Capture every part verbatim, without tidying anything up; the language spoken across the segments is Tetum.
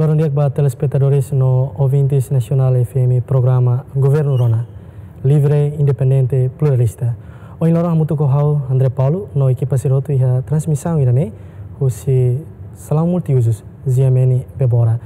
Loron di'ak ba telespetadores no ouvintes Nasionál F M programa Governu Rona, livre, independente, pluralista. Ohin loron hamutuk ho ha'u André Paulo no ekipa sira hotu iha transmisaun ida-ne'e husi Salaun Multiuzus Ziameni Bebora.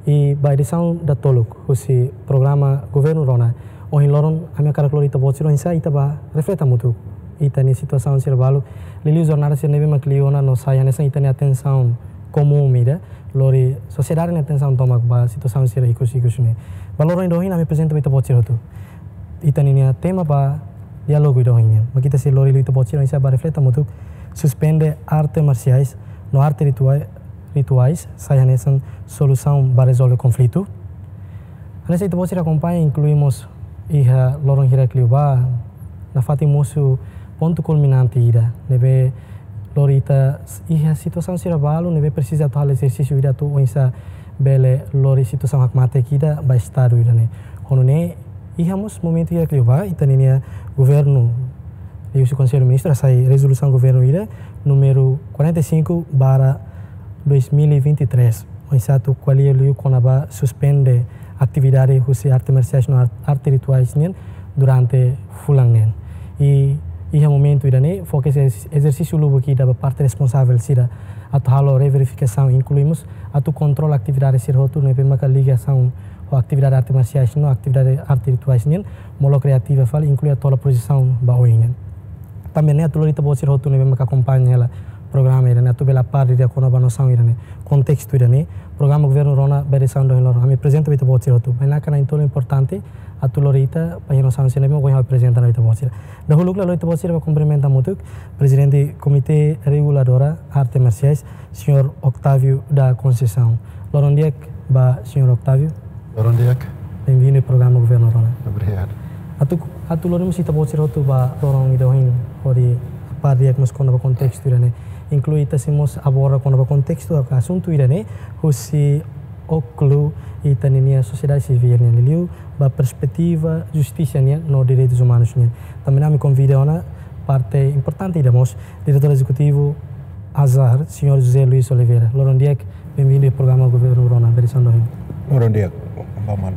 I ba edisaun datoluk husi programa Governu Rona, ohin loron ami hakarak lori ita-boot sira oinsá ita bá reflete hamutuk ita-nia situasaun sira balu, liuliu jornada sira ne'ebé mak liu ona no sai hanesan ita-nia atensaun komún ida, lori sosiedade nia atensaun tomak ba situasaun sira ikus-ikus ne'e. Ba loron ida ohin ami aprezenta ba ita-boot sira hotu ita-nia tema ba diálogu ida ohin nian. Mak ita sei lori liu ita-boot sira oinsá bá reflete hamutuk, suspende arte marsiais no arte ritua-, rituais sai hanesan solusaun ba rezolve konflitu. Hanesan ita-boot sira akompaña, inklui mós iha loron hirak liubá nafatin mosu pontu kulminante ida ne'ebé lori ita iha situasaun sira balu ne'ebé presiza atu halo ezersísiu ida atu oinsá bele lori situasaun hakmatek ida ba Estadu ida-ne'e. Ho nune'e, iha mós momentu hirak liubá ita-nia governu, liuhusi Konsellu Ministru hasai rezolusaun governu ida númeru quarenta e cinco barra dois mil e vinte e três, oinsá atu ko'alia liu kona-ba suspende atividade husi arte marsiais no ar-, arte rituais nian durante fulan neen. I iha momentu ida-ne'e foka ezer-, ezersísiu lubuk ida ba parte responsavel sira atu halo reverifikasaun, inklui mós atu kontrola atividade sira hotu ne'ebé maka ligasaun ho atividade arte marsiais no atividade arte rituais nian, molok reativa fali, inklui atu hola projesaun ba oin nian. Tanba ne'e atu lori ita-boot sira hotu ne'ebé maka akompaña hela programa ida-ne'e atu bele apar didi'ak kona-ba nosaun ida-ne'e, kontestu ida-ne'e, programa Governu Rona ba edisaun ida ohin loron ami aprezenta ba ita-boot sira hotu. Bainaka na'in-tolu importante atu lori ita ba iha nosaun sira ne'ebé mak ohin aprezenta ona ba ita-boot sira. Dahuluk lai lori ita-boot sira bá kumprimenta hamutuk Prezidente Komité Reguladora Arte Marsiais, Señór Octávio da Conceição. Loron di'ak ba Señór Octávio. Loron di'ak. Benvindu iha programa Governu Rona. Obrigadu. Atu, atu lori mós ita-boot sira hotu ba loron ida ohin hodi apar di'ak mós kona-ba kontestu ida-ne'e, inklui ita sei mós aborda kona-ba kontestu ka asuntu ida-ne'e husi ókulu ita-nia sosiedade sivíl nian, liuliu ba perspetiva justisa nian no direitus umanus nian. Tanba ne'e ami konvida ona parte importante ida mós, Diretór Ezekutivu ASAR, Señór José Luís Oliveira. Loron di'ak, benvindu iha programa Governu Rona ba edisaun ida ohin. Loron di'ak, ba maun.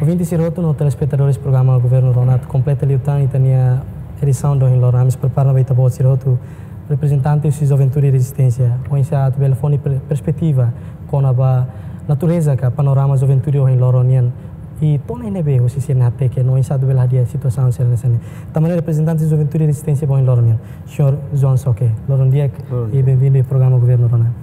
Ouvinte sira hotu no telespetadores programa Governu Rona, atu kompleta liután ita-nia edisaun ida ohin loron, ami sei prepara ba ita-boot sira hotu reprezentante husi Juventude Rezisténsia, oinsá atu bele fó nia per-, perspetiva kona-ba natureza ka panorama juventude ohin loron nian. I to'o ne'ebé husi sira-nia hateke no oinsá atu bele hadi'a situasaun sira hanesan ne'e. Tanba ne'e reprezentante Juventude Rezisténsia ba ohin loron nian, Señór João Soke. Loron di'ak. Loron di'ak. I benvindu iha programa Governu Rona.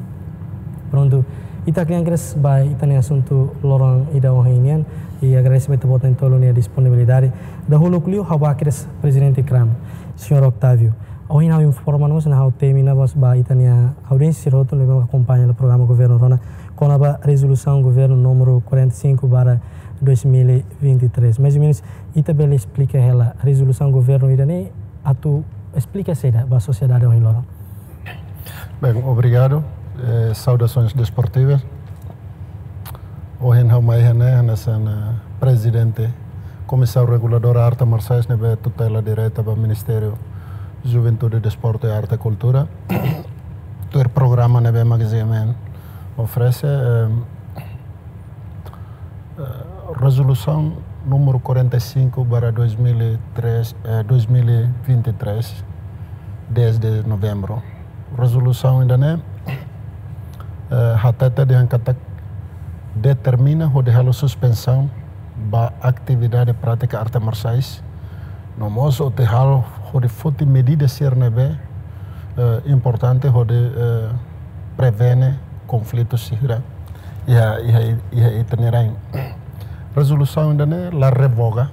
Prontu, ita kle'an kedas ba ita-nia asuntu loron ida ohin nian, i agradese ba ita-boot na'in-tolu nia disponibilidade. Dahuluk liu ha'u bá kedas Prezidente kram, Señór Octávio. Ohin ha'u informa mós no ha'u temi ona mós ba ita-nia audiénsia sira hotu ne'ebé mak akompaña hela programa Governu Rona kona-ba rezolusaun governu númeru quarenta e cinco barra dois mil e vinte e três. Mais ou menus, ita bele esplika hela rezolusaun governu ida-ne'e atu esplika saida ba sosiedade ohin loron? Bem, obrigadu. Eh, saudações desportivas. Ohin ha'u mai iha ne'e hanesan, eh, Prezidente Komisaun Reguladora Arte Marsiais ne'ebé tutela direta ba Ministériu Juventude, Desportu i Arte, Kultura. Tuir programa ne'ebé mak G M N oferese, eh, eh, rezolusaun númeru quarenta e cinco barra dois mil e três, eh, dois mil e vinte e três, dez de novembro. Rezolusaun ida-ne'e, eh, hatete dehan katak determina hodi halo suspensaun ba atividade prátika arte marsiais, no mós atu halo hodi foti medida sira ne'ebé, eh, importante hodi, eh, prevene konflitu sira iha, iha, iha ita-nia rain. Rezolusaun ida-ne'e la revoga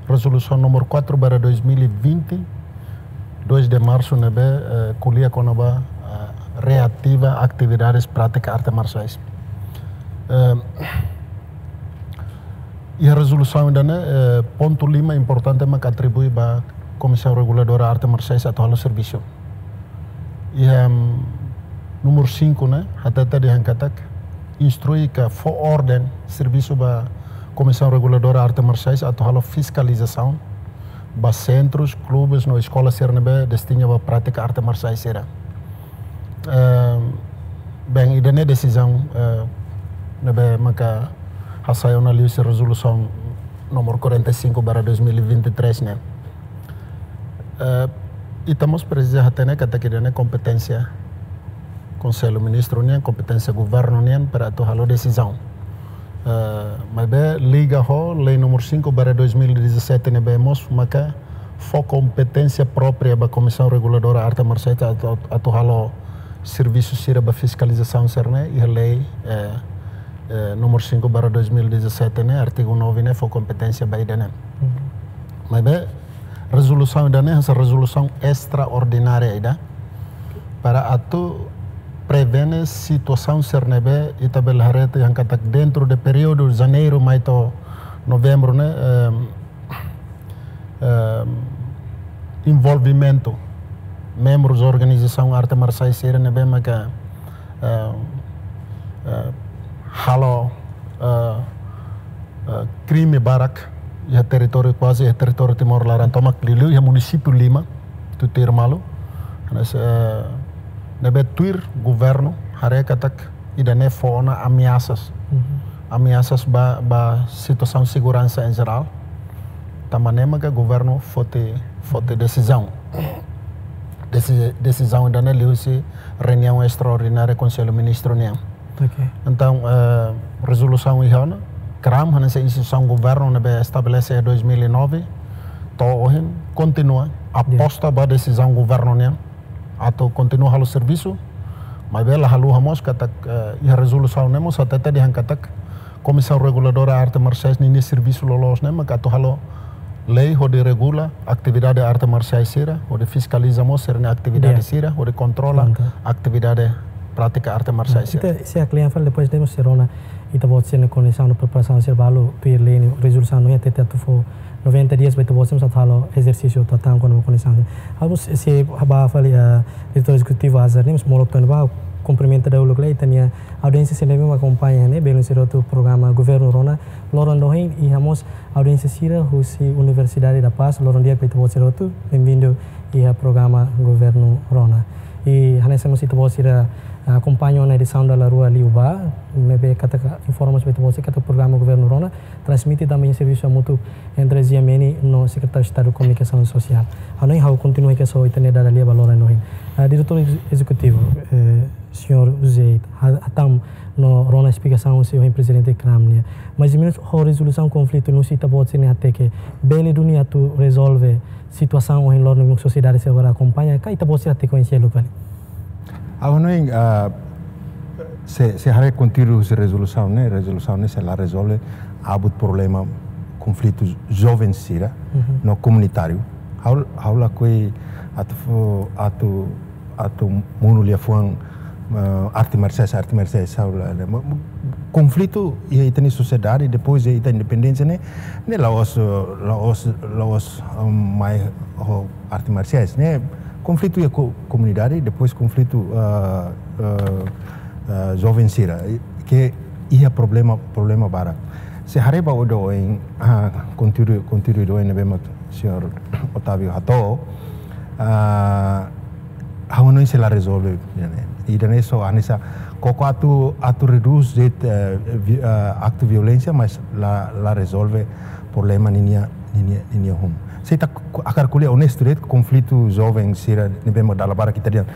rezolusaun númeru quatro barra dois mil e vinte, dois de março, ne'ebé, eh, ko'alia kona-ba, eh, reativa atividades prátika arte marsiais. Eh, iha rezolusaun ida-ne'e, eh, pontu lima importante mak atribui ba Komisaun Reguladora Arte Marsiais atu halo servisu. Iha, mm, númeru cinco ne'e, hatete dehan katak instrui ka fó orden servisu ba Komisaun Reguladora Arte Marsiais atu halo fiskalizasaun ba sentrus, klubes no eskola sira ne'ebé destina ba prátika arte marsiais sira. Eh, bem, ida-ne'e desizaun, eh, ne'ebé maka hasai ona liuhusi rezolusaun númeru quarenta e cinco barra dois mil e vinte e três ne'e. Eh, ita mós presiza hatene katak ida-ne'e kompeténsia Konsellu Ministru nian, kompeténsia governu nian para atu halo desizaun. Eh, maibé liga ho lei númeru cinco barra dois mil e dezassete ne'ebé mós maka fó kompeténsia própria ba Komisaun Reguladora Arte Marsiais atu, atu halo servisu sira ba fiskalizasaun sira-ne'e, iha lei, eh, eh, númeru cinco barra dois mil e dezassete ne'e, artigu nove ne'e fó kompeténsia ba ida-ne'e. Maibé rezolusaun ida-ne'e hanesan rezolusaun estraordinária ida para atu prevene situasaun sira ne'ebé ita bele haree tiha katak dentru de períodu janeiru mai to'o novembru ne'e, em, em, envolvimentu membrus organizasaun arte marsiais sira ne'ebé maka, em, em, halo, eh, eh, krime barak iha territóriu, kuaze iha territóriu Timor laran, tomak liuliu iha munisípiu lima, tutuir malu. Hanesan, eh, ne'ebé tuir governu haree katak ida-ne'e fó ona ameasas. Ameasas ba, ba situasaun seguransa em geral. Tanba ne'e maka governu foti, foti desizaun. Desi-, desizaun ida-ne'e liuhusi reuniaun estraordinária Konsellu Ministru nian. Ok. Entaun, eh, rezolusaun iha ona, KRAM, hanesan instituisaun governu ne'ebé estabelese iha dois mil e nove, to'o ohin, kontinua aposta ba desizaun governu nian atu kontinua halo servisu, maibé la haluha mós katak, eh, iha rezolusaun ne'e mós hatete dehan katak Komisaun Reguladora Arte Marsiais ninia servisu loloos ne'e maka atu halo lei hodi regula atividade arte marsiais sira, hodi fiskaliza mós sira-nia atividade sira, hodi kontrola atividade prátika arte marsiais sira. Ita sei aklian fali depois de mós rona ita-boot sira-nia kondisaun no preparasaun sira balu tuir lei ne'e, rezolusaun ne'e hatete atu fó noventa dias ba ita-boot sira atu halo ezersísiu atu hatán kona-ba kondisaun. Ha'u mós sei ba fali, eh, diretór ezekutivu Azar ne'e mós molok tan ba kumprimenta dahuluk lai ita-nia audiénsia sira ne'ebé mak akompaña ne'e, belun sira hotu programa Governu Rona loron ohin, iha mós audiénsia sira husi Universidade da Paz, loron di'ak ba ita-boot sira hotu, bem-vindo iha programa Governu Rona. I hanesan mós ita-boot sira, ah, akompaña ona edisaun dala rua liubá, ne'ebé katak informa ba ita-boot sira katak programa Governu Rona transmite tanba servisu hamutuk entre G M N no Sekretáriu Estadu Komunikasaun Sosiál. Hanoin ha'u kontinua kedas ho ita-nia dada lia ba loron ohin. Ah, diretór ex-, ezekutivu, eh, señór José, ha-, hatán no rona esplikasaun husi ohin prezidente KRAM nian. Mais ou menus, ho rezolusaun konflitu ne'e husi ita-boot sira-nia hateke, bele duni atu rezolve situasaun ohin loron ne'e sosiedade sira agora akompaña, ka ita-boot sira hateke oin seluk fali? Ha'u hanoin, ah, se, se haree konteúdu husi rezolusaun ne'e, rezolusaun ne'e sei la rezolve abut problema konflitu joven sira no komunitáriu. Ha'u, ha'u lakohi atu fó, atu atu monu liafuan, eh, arte marsiais, arte marsiais, ha'u la, la, ma-, ma-, konflitu iha ita-nia sosiedade, depois de ita independénsia ne'e, ne'e la'ós, eh, la'ós, la'ós, eh, mai ho arte marsiais, ne'e konflitu iha ko-, komunidade, depois konflitu, eh, eh, eh, joven sira, i, ke iha problema, problema barak. Se haree ba odo en, ah, konteúdu, konteúdu odo en ne'ebé mak señór Otávio hato'o, ah, ha'u hanoin sei la rezolve, ne'e. Ida-ne'e só hanesan koko atu, atu redús de'it, eh, vi-, eh, aktu violénsia, mas la, la rezolve problema ninia, ninia, ninia hun. Se ita ku-, hakarak ko'alia onestu de'it, konflitu joven sira ne'ebé mak dala barak ita dehan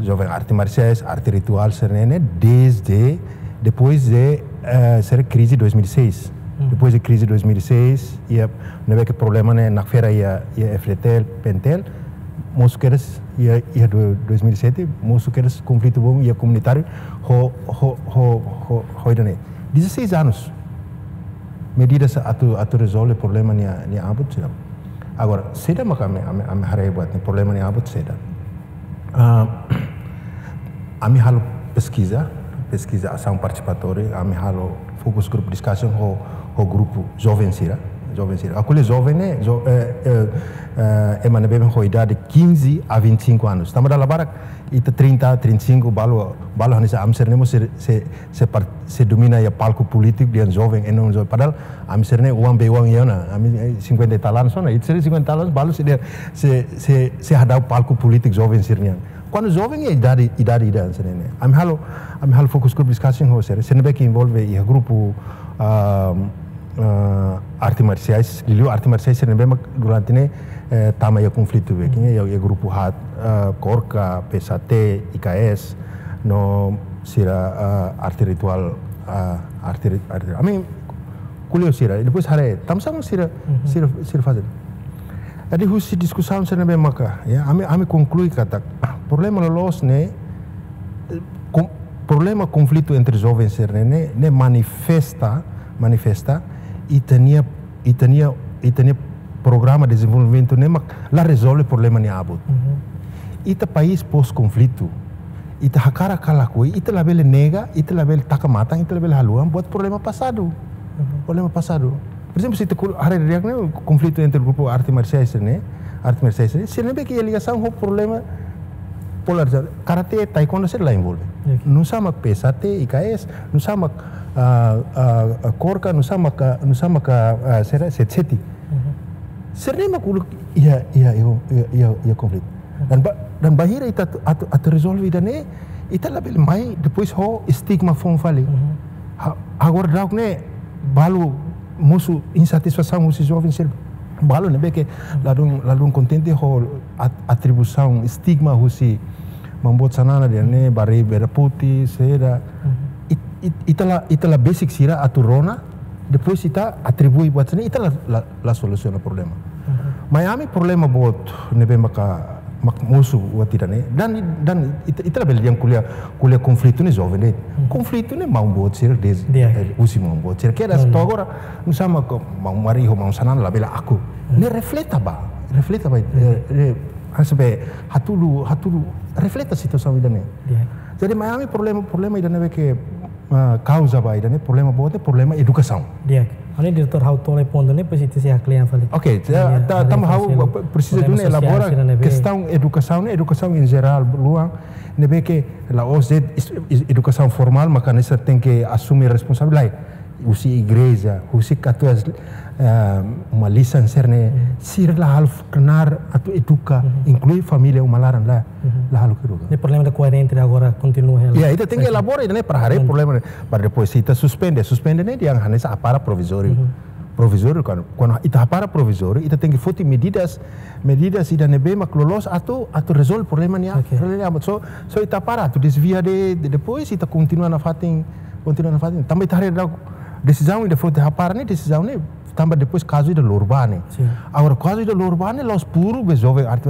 joven arte marsiais, arte rituál sira-ne'e, ne'e, desde depois de, eh, sira krize dois mil e seis. Depois de krize dois mil e seis, iha, ne'ebé ke problema ne'e nakfera iha, iha F D T L, PNTL, mosu kedas iha, iha do-, dois mil e sete, mosu kedas konflitu boot iha komunitáriu, ho, ho, ho, ho, ho ida-ne'e. Dezasseis anos. Medidas atu, atu rezolve problema nia, nia abut, seidauk. Agora, saida maka ami, ami, ami haree buat ne'e, problema nia abut saida. Ah, ami halo peskiza, peskiza asaun partisipatória, ami halo focus group discussion ho, ho grupu joven sira, joven sira. Ha'u ko'alia joven ne'e, jo-, eh, eh, eh, ema ne'ebé ho idade quinze a vinte e cinco anos. Tanba dala barak, ita trinta, trinta e cinco, balu, balu hanesan ami sira-ne'e mós sei, sei, sei par-, sei domina iha palku polítiku dehan joven, e não joven. Padahal ami sira-ne'e oan bei oan iha ona, ami, eh, cinquenta e tal anos ona, ita sira cinquenta e tal anos, balu sei dehan, sei, sei, sei hadau palku polítiku joven sira-nian. Kuandu joven iha idade, idade ida hanesan ne'e. Ami halo, ami halo focus group discussion ho sira, sira ne'ebé ke envolve iha grupu, ah, ah, arte marsiais, liuliu arte marsiais sira ne'ebé mak durante ne'e, eh, tama iha konflitu be, ke iha, iha grupu haat, ah, KORKA, P S H T, I K S, no sira, ah, arte rituál, ah, arte ri-, arte, ami ko'alia ho sira, depois haree, tanbasá mak sira, Mhm. sira, sira fase. Jadi husi diskusaun sira ne'ebé maka, ya, ami, ami konklui katak, problema loloos ne'e, eh, kon-, problema konflitu entre joven sira ne'e, ne'e, ne'e manifesta, manifesta, ita-nia, ita-nia, ita-nia programa dezenvolvimentu ne'e mak la rezolve problema nia abut. Mhm. Ita país pós-konflitu, ita hakarak ka lakohi, ita labele nega, ita labele taka matan, ita labele haluha buat problema pasadu. Mhm. Problema pasadu. Por ezemplu, se ita ku-, haree di'ak ne'e, konflitu entre grupu arte marsiais ne'e, arte marsiais ne'e, sira ne'ebé ke iha ligasaun ho problema polarizasaun. Karate, taekwondo, sira la envolve. Oke. Nusá mak P S H T, I K S, nusá mak, ah, ah, ah, KORKA, nusá mak, ah, nusá mak, ah, ah, sira, sete sete. Mhm. Sira ne'e mak uluk iha, iha, iha, iha, iha, iha konflitu. Dan ba-, dan bainhira ita atu, atu, atu rezolve ida-ne'e, ita labele mai depois ho estigma foun fali. Mhm. Ha-, agora daudauk ne'e balu mosu insatisfasaun husi joven sira balu ne'ebé ke ladún, ladún kontente ho at-, atribuisaun estigma husi maun boot Xanana dehan ne'e, barei bera pute, seda. Mhm. It-, it-, ita la, ita la besik sira atu rona, depois ita atribui buat sira-ne'e, ita la, la, la solusiona problema. Mhm. Mai ami problema boot ne'ebé maka, mak mosu buat ida-ne'e. Dan, dan ita, ita labele dehan ko'alia, ko'alia konflitu ne'e joven de'it. Mhm. Konflitu ne'e maun boot sira dezde, Di'ak. eh, husi maun boot sira. Kedas Maun. to'o agora, nusá mak maun Mari ho maun Xanana labele akur. Mhm. Ne'e refleta ba, refleta ba, Mhm. eh, eh, hanesan be hatudu, hatudu, refleta situasaun ida-ne'e. Di'ak. Jadi mai ami problema, problema ida ne'ebé ke, ah, kauza ba ida-ne'e, problema boot ne'e, problema edukasaun. Di'ak. Ha'u-nia diretór, ha'u toli pontu ne'e, depois ita sei haklean fali. Oke, ta-, Di'ak, ta-, ha'u tanba ha'u presiza problema duni sosiál elabora sira ne'ebé. Kestaun edukasaun ne'e, edukasaun em geral, luan, ne'ebé ke la'ós de'it es-, es-, edukasaun formál, maka hanesan tenke asume responsabilidade. Husi igreja, husi katuas, eh, uma lisan sira-ne'e, Mhm. sira la halo f-, knaar atu eduka, Mhm. inklui família uma laran la, Mhm. la halo eduka. Ne'e problema ida koerente agora kontinua hela. Ya, ita tenke Oke. elabora ida-ne'e para haree Prontu. problema ne'e. Para depois se ita suspende, suspende ne'e dehan hanesan hapara provizóriu. Mhm. Provizóriu kan, kuandu ita hapara provizóriu, ita tenke foti medidas, medidas ida ne'ebé mak loloos atu, atu rezolve problema nian, Oke. problema nian. So, so ita para atu desvia de'it, de-, depois ita kontinua nafatin, kontinua nafatin. Tanba ita haree daudauk desizaun ida foti hapara ne'e, desizaun ne'e, tanba depois kazu ida lori ba ne'e. Sin. Agora, kazu ida lori ba ne'e, la'ós puru be joven arte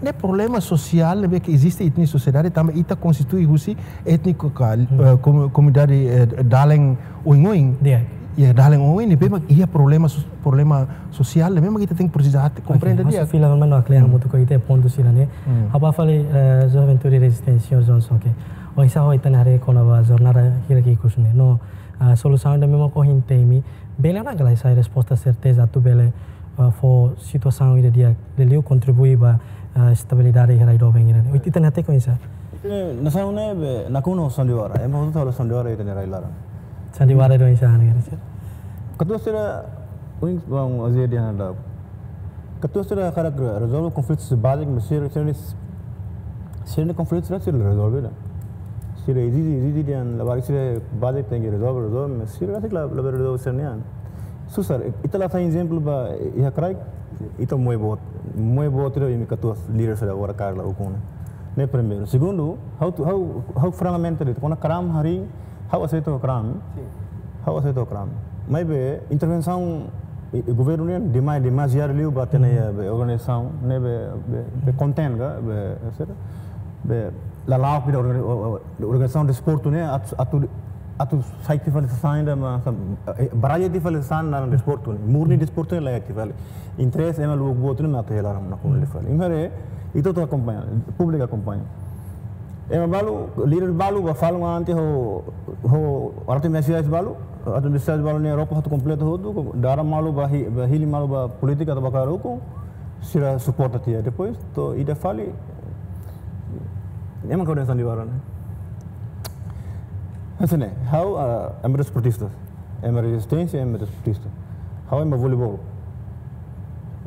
ne'e problema sosiál ne'ebé ke eziste iha ita-nia sosiedade, tanba ita konstitui husi étniku ka, Hmm. eh, komu-, komunidade, eh, dalen oioin. Di'ak. Iha dalen oioin ne'ebé mak iha problema sos-, problema sosiál ne'ebé mak ita tenke presiza atu Oke, komprende ha'u sei di'ak. fila mano haklean Hmm. hamutuk ho ita pontu sira-ne'e. Hmm. Ha'u bá fali, eh, Juventude Rezisténsia, Johnson, oke. Oinsá ho ita-nia haree kona-ba jornada hirak ikus ne'e. No, ah, solusaun ida ne'ebé mak ohin temi, bele ona ka lae sai resposta serteza atu bele, ah, fó situasaun ida di'ak, liuliu kontribui ba, ah, estabilidade iha rai doben ida-ne'e. Oke. Ita-nia hateke oinsá? Ita-nia nasaun ne'e be nakonu ho sandiwara. Ema hotu halo sandiwara iha ita-nia rai laran. Sandiwara ida oinsá, ne'e, sir? Katuas sira, ohin maun Aziz dehan daudauk. Katuas sira hakarak re-, rezolve konflitu báziku, mas sira, sira-nia, sira-nia konflitu sira, sira rezolve la. Sira ezije, ezije dehan labarik sira báziku tenke rezolve, rezolve, mas sira la, la rezolve sira-nian. Susar, ita la sai ezemplu ba iha kraik, ita moe boot, moe boot ida imi katuas líder sira agora kaer la ukun. Ne'e primeiru. Segundu, ha'u, ha'u, ha'u frankamente dehan, kona-ba kraun harii, ha'u aseita kraun. Sin. Ha'u aseita kraun. Maibé intervensaun i, i governu nian demais, demasiadu liu ba ita-nia, Hmm. be organizasaun, ne'e be, be, be konten ka, be, sira, be lala'ok ida organi-, o, o, organizasaun desportu ne'e atu, atu, atu sai tiha fali sasán ida mak, eh, baralla tiha fali sasán ida desportu ne'e. Murni desportu ne'e la iha tiha fali. Interese ema luak boot ne'e mak atu hela ram na komunidade fali. Imi haree, ita hotu akompaña, públiku akompaña. Ema balu, líder balu, bá falun ante ho, ho arte marsiais balu, arte marsiais balu ne'e roupa hotu kompletu hotu, dada malu bá hi-, bá hili malu ba polítika atu bá kaer ukun, sira suporta tiha. Depois, to'o ida fali, ema koordenasaun di baran. Hanesan ne'e, ha'u, ah, ema desportista. Ema rezisténsia, ema desportista. Ha'u ema voleibol.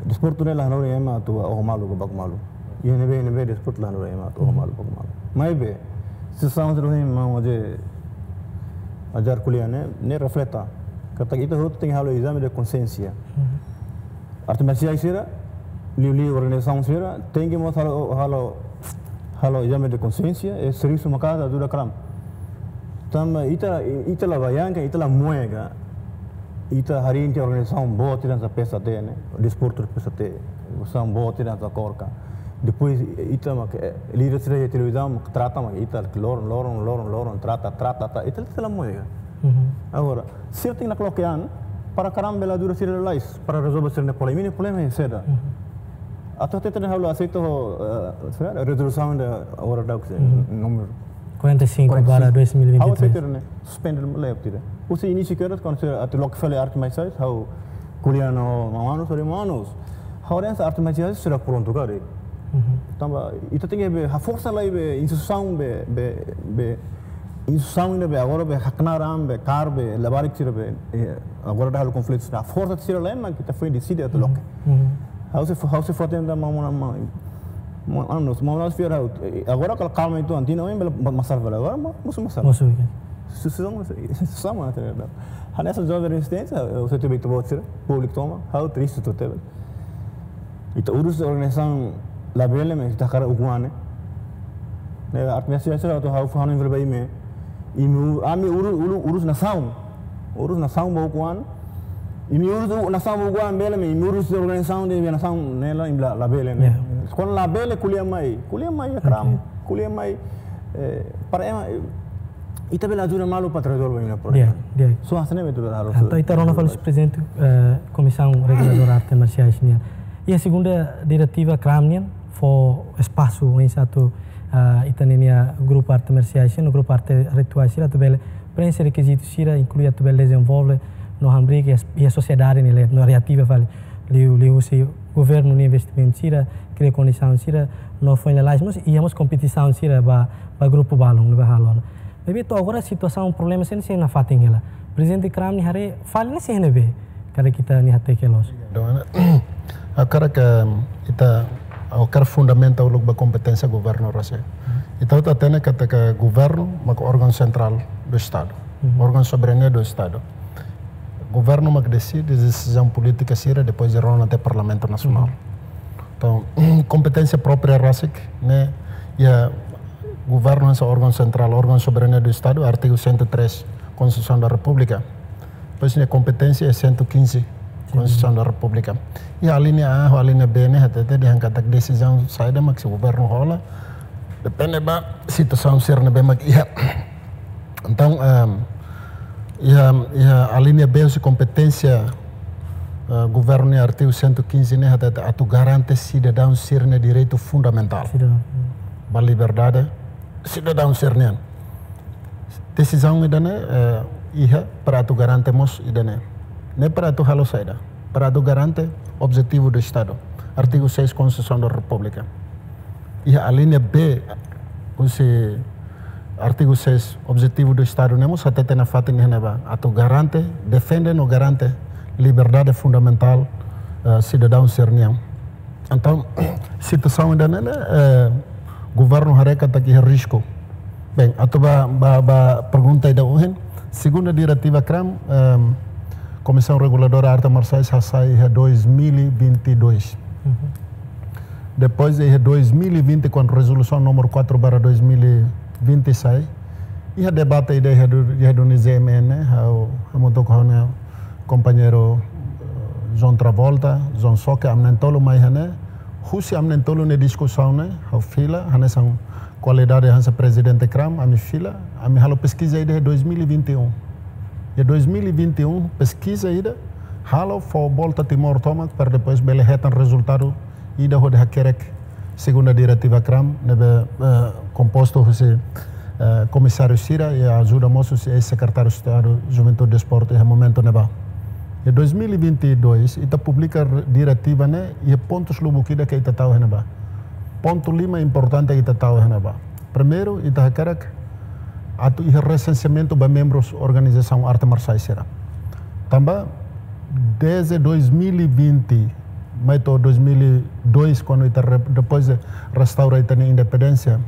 Desportu ne'e la hanorin ema atu oho malu ka baku malu. Iha ne'ebé, ne'ebé desportu la no ema to malu pok malu. Maibé, situasaun sira ohin maun José ajar ko'alia ne'e, ne'e refleta. Katak ita hotu tenke halo ezame de konxiénsia. Arte marsiais sira, liuliu organizasaun sira, tenke mós halo, halo, halo ezame de konxiénsia, e servisu maka'as ajuda kram. Tanba ita, ita la bayangkan, ita la moe ka, ita harii tiha organizasaun boot ida hanesan P S A T ne'e, desportu P S A T, organizasaun boot ida hanesan KORKA. Depois ita mak, eh, líder sira iha televizaun mak trata mak ita loron, loron, loron, loron, trata, trata, trata, ita, ita la moe ka. Agora, sira tenke nakloke an, para kram bele ajuda sira lalais, para rezolve sira-nia problema, imi-nia problema iha saida. Atu hatete dehan ha'u la aseita ho, eh, saida, rezolusaun ida agora daudaun, númeru quarenta e cinco barra dois mil e vinte e três. Ha'u aseita ne'e, suspende leve tira. Husi inísiu kedas, kuandu sira atu loke fali arte marsiais, ha'u ko'alia ho maun Anus, falei, "Maun Anus, ha'u dehan arte marsiais sira prontu karik." Tanba, ita tenke be, haforsa lai be, instituisaun be, be, be, instituisaun ida be, agora be, haknaar an be, kaer be, labarik sira be, eh, agora ita halo konflitu sira, haforsa sira lai, mak ita foin deside atu loke. Ha'u sei fó, ha'u sei fó tenda ma, ma, ma, ma, anu, ma, ma, fiar ha'u. Eh, agora kala kalma uitoan, tinan oin bele ma, masalah bele, agora ma, mosu masalah. Mosu, ya. Susung, susung, susung, ma, tera, da. Hanesan joven rezisténsia, eh, se tiver tu bot sira, públiku tomak, ha'u triste to'o tebes. Ita urus organizasaun labele, maibé ita hakarak ukun an ne'e. Ne'e, arte marsiais sira atu ha'u fó hanoin fali ba imi. Imi u-, ami uru-, uru-, urus nasaun. Urus nasaun ba ukun an. Imi urus u-, nasaun ba ukun an bele, maibé imi urus organizasaun de nasaun ne'e la, imi la, labele ne'e. Ya. Kuandu labele ko'alia mai. Ko'alia mai iha kram. Oke. Ko'alia mai, eh, para ema, eh, ita bele ajuda malu para rezolve imi-nia problema. Di'ak, di'ak. Só hanesan ne'e mak ita bele halo. Entaun, ita rona fali prezidente, eh, Komisaun Reguladora Arte Marsiais nian. Iha segunda diretiva kram nian, fó espasu oinsá atu, ah, ita-nia grupu arte marsiais, no grupu arte rituais sira atu bele preenxe rekizitu sira, inklui atu bele dezenvolve no hamriik iha, iha sosiedade nia leet, no reativa fali. Liu, liuhusi governu nia investimentu sira, kria kondisaun sira, no foin lalais mós, iha mós kompetisaun sira ba, ba grupu balun, ba halo. Maibé to'o agora situasaun problema sira sei nafatin hela. Prezidente kram nia haree fali ne'e sei iha ne'ebé. Karik ita-nia hateke loos. Dona, ha'u hakarak, em, ita, ha'u hakarak fundamenta uluk ba kompeténsia governu rasik. Ita hotu hatene katak governu mak órgaun sentrál do Estadu. Órgaun soberania do Estadu. Governu mak deside desizaun polítika sira, depois de rona até Parlamentu Nasionál. Entaun, kompeténsia própria rasik ne'e iha governu hanesan órgaun sentrál, órgaun soberania do Estadu, artigu cento e três, Konstituisaun da Repúblika. Depois nia kompeténsia iha cento e quinze, Konstituisaun da Repúblika. Iha alínea A ho alínea B ne'e hatete dehan katak desizaun saida mak sei governu hola, depende ba situasaun sira ne'ebé mak iha. Entaun, ehm, iha, iha alínea B husi kompeténsia, eh, governu nia artigu cento e quinze ne'e hatete atu garante sidadaun sira-nia direitu fundamentál. Sidadaun. Ba liberdade sidadaun sira-nian. Desizaun ida-ne'e, eh, iha para atu garante mós ida-ne'e. Ne'e para atu halo saida? Para atu garante objetivu do Estadu. Artigu seis Konstituisaun da Repúblika. Iha alínea B husi artigu seis, objetivu do Estadu ne'e mós hatete nafatin iha ne'ebá. Atu garante, defende no garante liberdade fundamentál, eh, sidadaun sira-nian. Entaun, situasaun ida-ne'e, eh, governu haree katak iha risku. Bem, atu ba, ba, ba pergunta ida ohin, segunda diretiva kram, ehm, Komisaun Reguladora Arte Marsiais hasai iha dois mil e vinte e dois. Depois iha dois mil e vinte, kuandu rezolusaun númeru quatro barra dois mil e vinte sai, iha debate ida iha du-, iha duni Z M N, ha'u, ha'u hamutuk ho ha'u-nia kompañeiru, eh, João Travolta, João Soke, ami na'in-tolu mai iha ne'e. Husi ami na'in-tolu nia diskusaun ne'e, ha'u fila, hanesan kualidade hanesan prezidente kram, ami fila, ami halo peskiza ida iha dois mil e vinte e um. Iha dois mil e vinte e um, peskiza ida, halo fó volta Timor tomak, para depois bele hetan rezultadu ida hodi hakerek segunda diretiva kram, ne'ebé, eh, kompostu husi, eh, komisáriu sira, i ajuda mós husi eis-sekretáriu Estadu Juventude Desportu iha momentu ne'ebá. Iha dois mil e vinte e dois, ita publika re-, diretiva ne'e, iha pontus lubuk ida ke ita tau iha ne'ebá. Pontu lima importante ke ita tau iha ne'ebá. Primeiru, ita hakarak atu iha resenseamentu ba membrus organizasaun arte marsiais sira. Tanba, desde dois mil e vinte, mai to'o dois mil e dois, kuandu ita re-, depois de restaura ita-nia independénsia,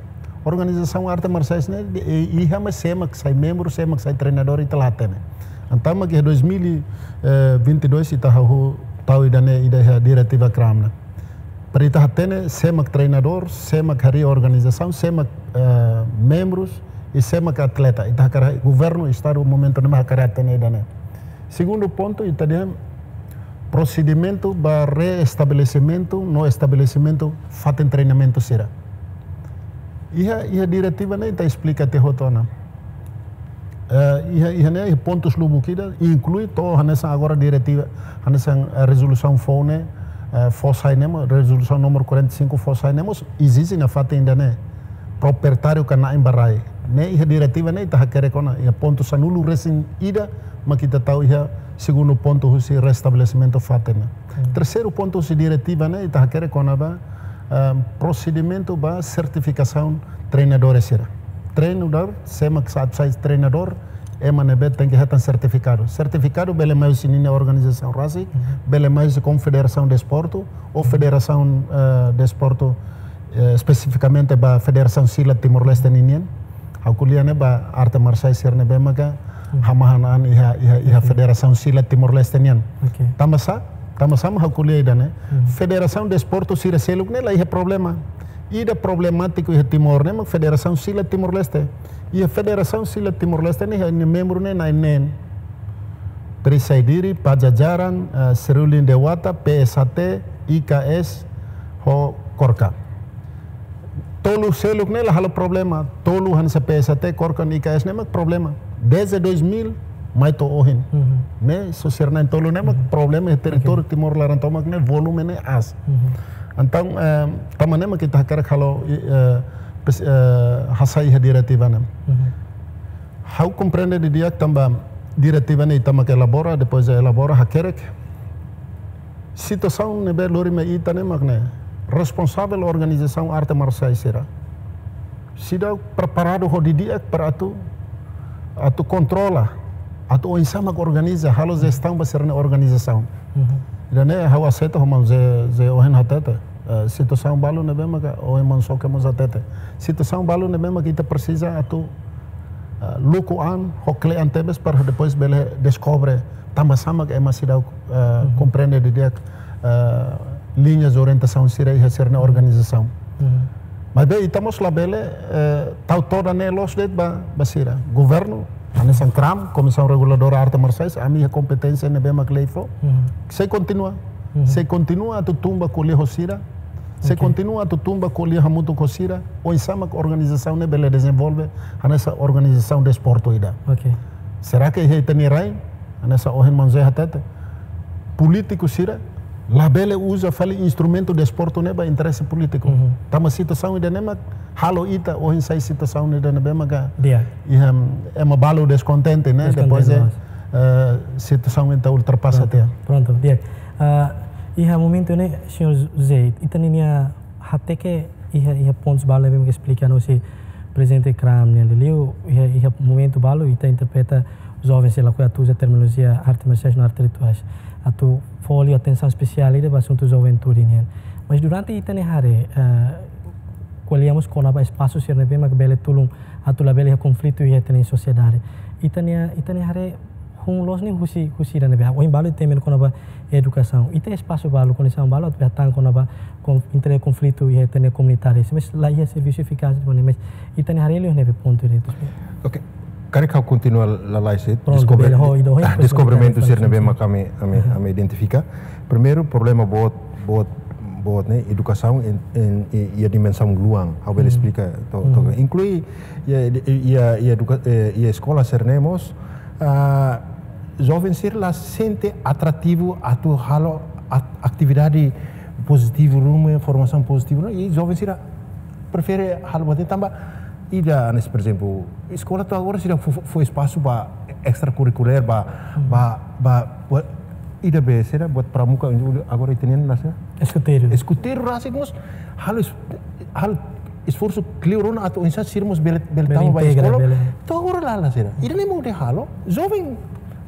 organizasaun arte marsiais ne'e, de, e, iha mak sé mak sai membru, sé mak sai treinadór, ita la hatene. Entaun mak iha dois mil e vinte e dois ita hahú tau ida-ne'e, ida iha diretiva kram ne'e. Para ita hatene sé mak treinadór, sé mak harii organizasaun, sé mak, eh, membrus, i sé mak atleta. Ita hakarak, governu, estadu momentu ne'e mak hakarak hatene ida-ne'e. Segundu pontu, ita dehan prosedimentu ba reestabelesimentu no estabelesimentu fatin treinamentu sira. Iha, iha diretiva ne'e ita esplika tiha hotu ona. Eh, iha, iha ne'e, iha pontus lubuk ida, inklui to'o hanesan agora diretiva, hanesan, eh, rezolusaun foun ne'e, eh, fó sai ne'e mós, rezolusaun númeru quarenta e cinco fó sai ne'e mós, ezije nafatin ida-ne'e. Proprietáriu ka na'in ba rai. Ne'e iha diretiva ne'e ita hakerek ona, iha pontu sanulu-resin-ida mak ita tau iha segundu pontu husi restabelesimentu fatin ne'e. Hmm. Terseiru pontu husi diretiva ne'e ita hakerek ona ba, ehm, prosedimentu ba sertifikasaun treinadores sira. Treinadór, sé mak sa-, sai treinadór, ema ne'ebé tenke hetan sertifikadu. Sertifikadu bele mai husi ninia organizasaun rasik, Mhm. bele mai husi Konfederasaun Desportu, ou Mhm. Federasaun, eh, Desportu, eh, espesifikamente ba Federasaun Silat Timor-Leste ninian. Ha'u ko'alia ne'e ba arte marsiais sira ne'ebé maka Mhm. hamahan an iha, iha, iha Oke. Federasaun Silat Timor-Leste nian. Oke. Tanba sá, tanba sá mak ha'u ko'alia ida-ne'e. Mhm. Federasaun Desportu sira seluk ne'e la iha problema. Ida problemátiku iha Timor ne'e mak Federasaun Silat Timor-Leste. Iha Federasaun Silat Timor-Leste ne'e iha nia membru ne'e na'in-neen. Trisaidiri, Pajajaran, eh, Serulin Dewata, P S H T, I K S, ho KORKA. Tolu seluk ne'e la halo problema. Tolu hanesan P S H T, KORKA, I K S ne'e mak problema. Desde dois mil, mai to'o ohin. Mhm. Ne'e, só sira na'in-tolu ne'e mak Mhm. problema iha territóriu Oke. Timor laran tomak ne'e volume ne'e aas. Mhm. Entaun, eh, tanba ne'e mak ita hakarak halo, eh, pes-, eh, hasai iha diretiva ne'e. Mhm. Ha'u komprende didi'ak tanba diretiva ne'e ita mak elabora, depois de elabora hakerek. Situasaun ne'ebé lori mai ita ne'e mak ne'e. Responsavel organizasaun arte marsiais sira seidauk preparadu ho didi'ak para atu, atu kontrola, atu oinsá mak organiza, halo jestaun ba sira-nia organizasaun. Mhm. Ida-ne'e ha'u aseita ho maun José, José ohin hatete. Eh, situasaun balu ne'ebé maka, ohin maun Soke mós hatete. Situasaun balu ne'ebé maka ita presiza atu, eh, luku an, ho kle'an tebes para depois bele deskobre tanba sá mak ema seidauk, eh, Mhm. komprende didi'ak, eh, liñas de orientasaun sira iha sira-nia Mhm. organizasaun. Mhm. Maibé ita mós labele, eh, tau todan ne'e loos de'it ba, ba sira. Governu, hanesan KRAM, Komisaun Reguladora Arte Marsiais, ami iha kompeténsia ne'ebé mak lei fó. Mhm. Sei kontinua. Mhm. Sei kontinua atu tun ba ko'alia ho sira. Sei Oke. kontinua atu tun ba ko'alia hamutuk ho sira. Oinsá mak organizasaun ne'e bele dezenvolve, hanesan organizasaun desportu ida. Oke. Será que iha ita-nia rai, hanesan ohin maun José hatete, polítiku sira labele uza fali instrumentu desportu ne'e ba interese polítiku. Mhm. Tanba situasaun ida-ne'e mak halo ita ohin sai situasaun ida ne'ebé maka Di'ak. iha ema balu deskontente, ne'e? Deskontente, Depois de, loos. eh, situasaun ita ultrapasa Pronto, tiha. pronto, di'ak. Ah, iha momentu ne'e, señór José, ita ninia hateke iha, iha pontus balu ne'ebé mak esplika no si prezidente KRAM nian, liuliu iha, iha momentu balu ita interpreta joven sira lakohi atu uza terminolojia arte marsiais no arte rituais. Atu fó liu atensaun espesiál ida ba asuntu juventude nian. Mas durante ita-nia haree, eh, ko'alia mós kona-ba espasu sira ne'ebé mak bele tulun atu labele iha konflitu iha ita-nia sosiedade. Ita-nia, ita-nia haree hun loos ne'e husi, husi ida ne'ebé. Ohin balu temi kona-ba edukasaun. Ita espasu balu, kondisaun balu atu hatán kona-ba kon-, entre konflitu iha ita-nia komunidade. Mas la iha servisu efikás de maneira, mas ita-nia haree liu ne'ebé pontu ida. Oke. Karik ha'u kontinua lalais, eh, Pronto, deskobre-, bele ho, ida ho, ah, depois deskobrimentu komentari sira ne'ebé mak ami, ami, Aha. ami identifika. Primeiru, problema boot, boot, boot ne'e, edukasaun iha, iha, iha dimensaun luan. Ha'u bele Mhm. esplika to'ok, to'ok. Mhm. Inklui iha, iha, iha eduka-, eh, iha eskola sira-ne'e mós, ah, joven sira la sente atrativu atu halo at-, atividade pozitivu ruma, formasaun pozitivu, no? I joven sira prefere halo buat ne'e tanba ida, hanesan, por ezemplu, eskola to'o agora seidauk fó, fó, fó espasu ba extrakurrikulár, ba, Hmm. ba, ba, buat ida be, sira buat pramuka, agora ita-nian la sá? Eskuteiru. Eskuteiru rasik mós halo es-, halo esforsu kleur ona atu oinsá sira mós bele, bele Bele tama ba integra, eskola. bele. To'o agora la, la sira. Ida-ne'e mak ita halo, joven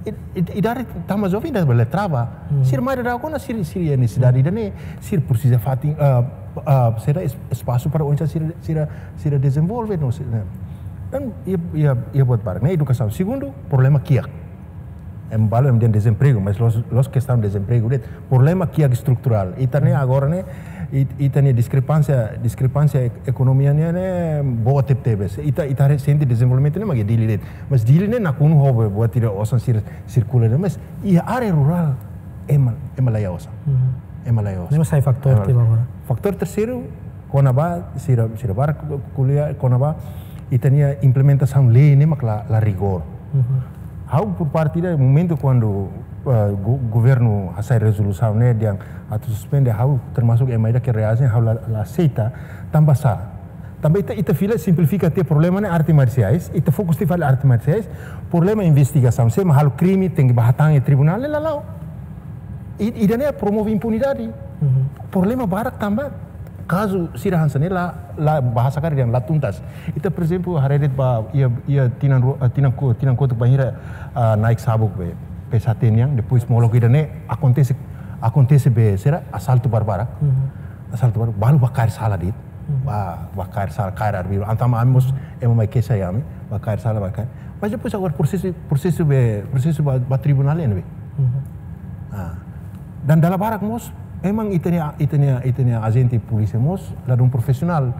I, i, idade tama joven ida bele trava. Sira mai daudaun ona sira, sira iha nesesidade ida-ne'e, sira presiza fatin, ah, ah, sira es-, espasu para oinsá sira, sira, sira dezenvolve no sira. Entaun, iha, iha, iha buat barak ne'e edukasaun. Segundu, problema kiak. Ema balu ema dehan dezempregu, mas la'ós, la'ós kestaun dezempregu de'it. Problema kiak estruturál. Ita-nia agora ne'e, it-, ita-nia diskrepánsia, diskrepánsia ek-, ekonomia ne'e, ne'e boot tebetebes. Ita, ita haree sente dezenvolvimentu ne'e mak iha Dili de'it. Mas Dili ne'e nakonu ho buat ida osan sira sirkula ne'e, mas iha área rurál ema, ema la iha osan. Ema la iha osan. Ne'e mak sai faktór tiha agora. Faktór terseiru, kona-ba sira, sira barak ko'alia, kona-ba ita-nia implementasaun lei ne'e mak la, la rigór. Ha'u por parte ida momentu kuandu, eh, go-, governu hasai rezolusaun ne'e dehan atu suspende, ha'u termasuk ema ida ke reajen, ha'u la, la aseita, tanba sá. Tanba ita, ita fila simplifika tiha problema ne'e arte marsiais, ita fokus tiha fali arte marsiais, problema investigasaun, sé mak halo krime, tenke bá hatán iha tribunál, ne'e la la'o. I, ida-ne'e promove impunidade. Problema barak tanba kazu sira hanesan ne'e la, la bahasa karik dehan la tuntas. Ita, por ezemplu, haree de'it ba iha, iha tinan ru-, ah, tinan ko-, tinan kotuk bainhira, ah, Nike Sabuk be, P S H T nian, depois molok ida-ne'e akontese, akontese be sira asaltu barbarak. Asaltu barbarak, balu bá kaer sala de'it. Bá, bá kaer sala, kaer arbiru. Entaun ami mós, ema mai keixa iha ami, bá kaer sala, bá kaer. Mas depois agora prosesu, prosesu be, prosesu ba, ba tribunál ne'ebé. Ah. Dan dala barak mós, memang ita-nia, ita-nia, ita-nia ajente polísia mós ladún profisionál.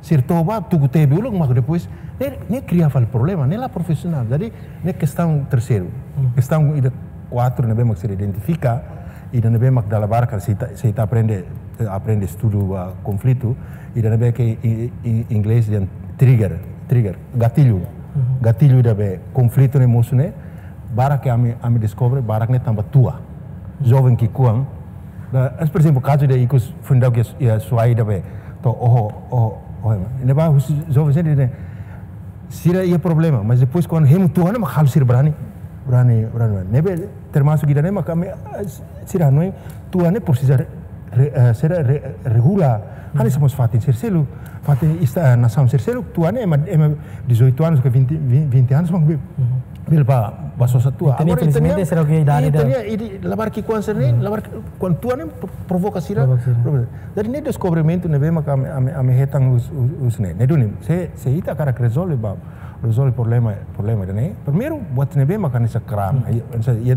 Sira toba, tuku tebe uluk, mak depois, ne'e, ne'e kria fali problema, ne'e la profisionál. Jadi, ne'e kestaun terseiru. Kestaun ida kuatru ne'ebé mak sira identifika, ida ne'ebé mak dala barak, se ita, se ita aprende, eh, aprende estudu, ah, konflitu, ida ne'ebé ke i, i, inglés dehan trigger, trigger, gatillu. Gatillu ida be konflitu ne'e mosu ne'e, barak ke ami, ami deskobre, barak ne'e tanba tua. Joven ki'ikoan. Da, es, por ezemplu, kazu ida ikus fundau ke ya suai ida be. To'o, oho, oho, oho, ema. Ne'ebá husi joven sira dehan, sira iha problema, mas depois kuandu hemu tua ne'e mak halo sira brani, brani, brani, brani. Ne'ebé termasuk ida-ne'e mak ami, eh, sira hanoin tua ne'e presiza re-, re-, eh, sira re-, regula. Hanesan mós fatin sira seluk, fatin esta, eh, nasaun sira seluk, tua ne'e ema, ema dezoito anos ke vinte, vin-, vinte anos mak be-, bele bá, bá sosa tua. Ita-nia, agora ita-nia, infelizmente, sira ke idade ita-nia, ida labarik ki'ikoan sira ne'e, labarik kuandu tua ne'e pro-, provoka sira. Provoka sira. Provoka. Jadi ne'e deskobrimentu ne'ebé mak ami, ami, ami hetan husi, husi, husi ne'e. Ne'e duni, se, se ita hakarak rezolve ba, rezolve problema, problema ida-ne'e. Primeiru, buat ne'ebé mak hanesan CRAM. Ai, hanesan, iha,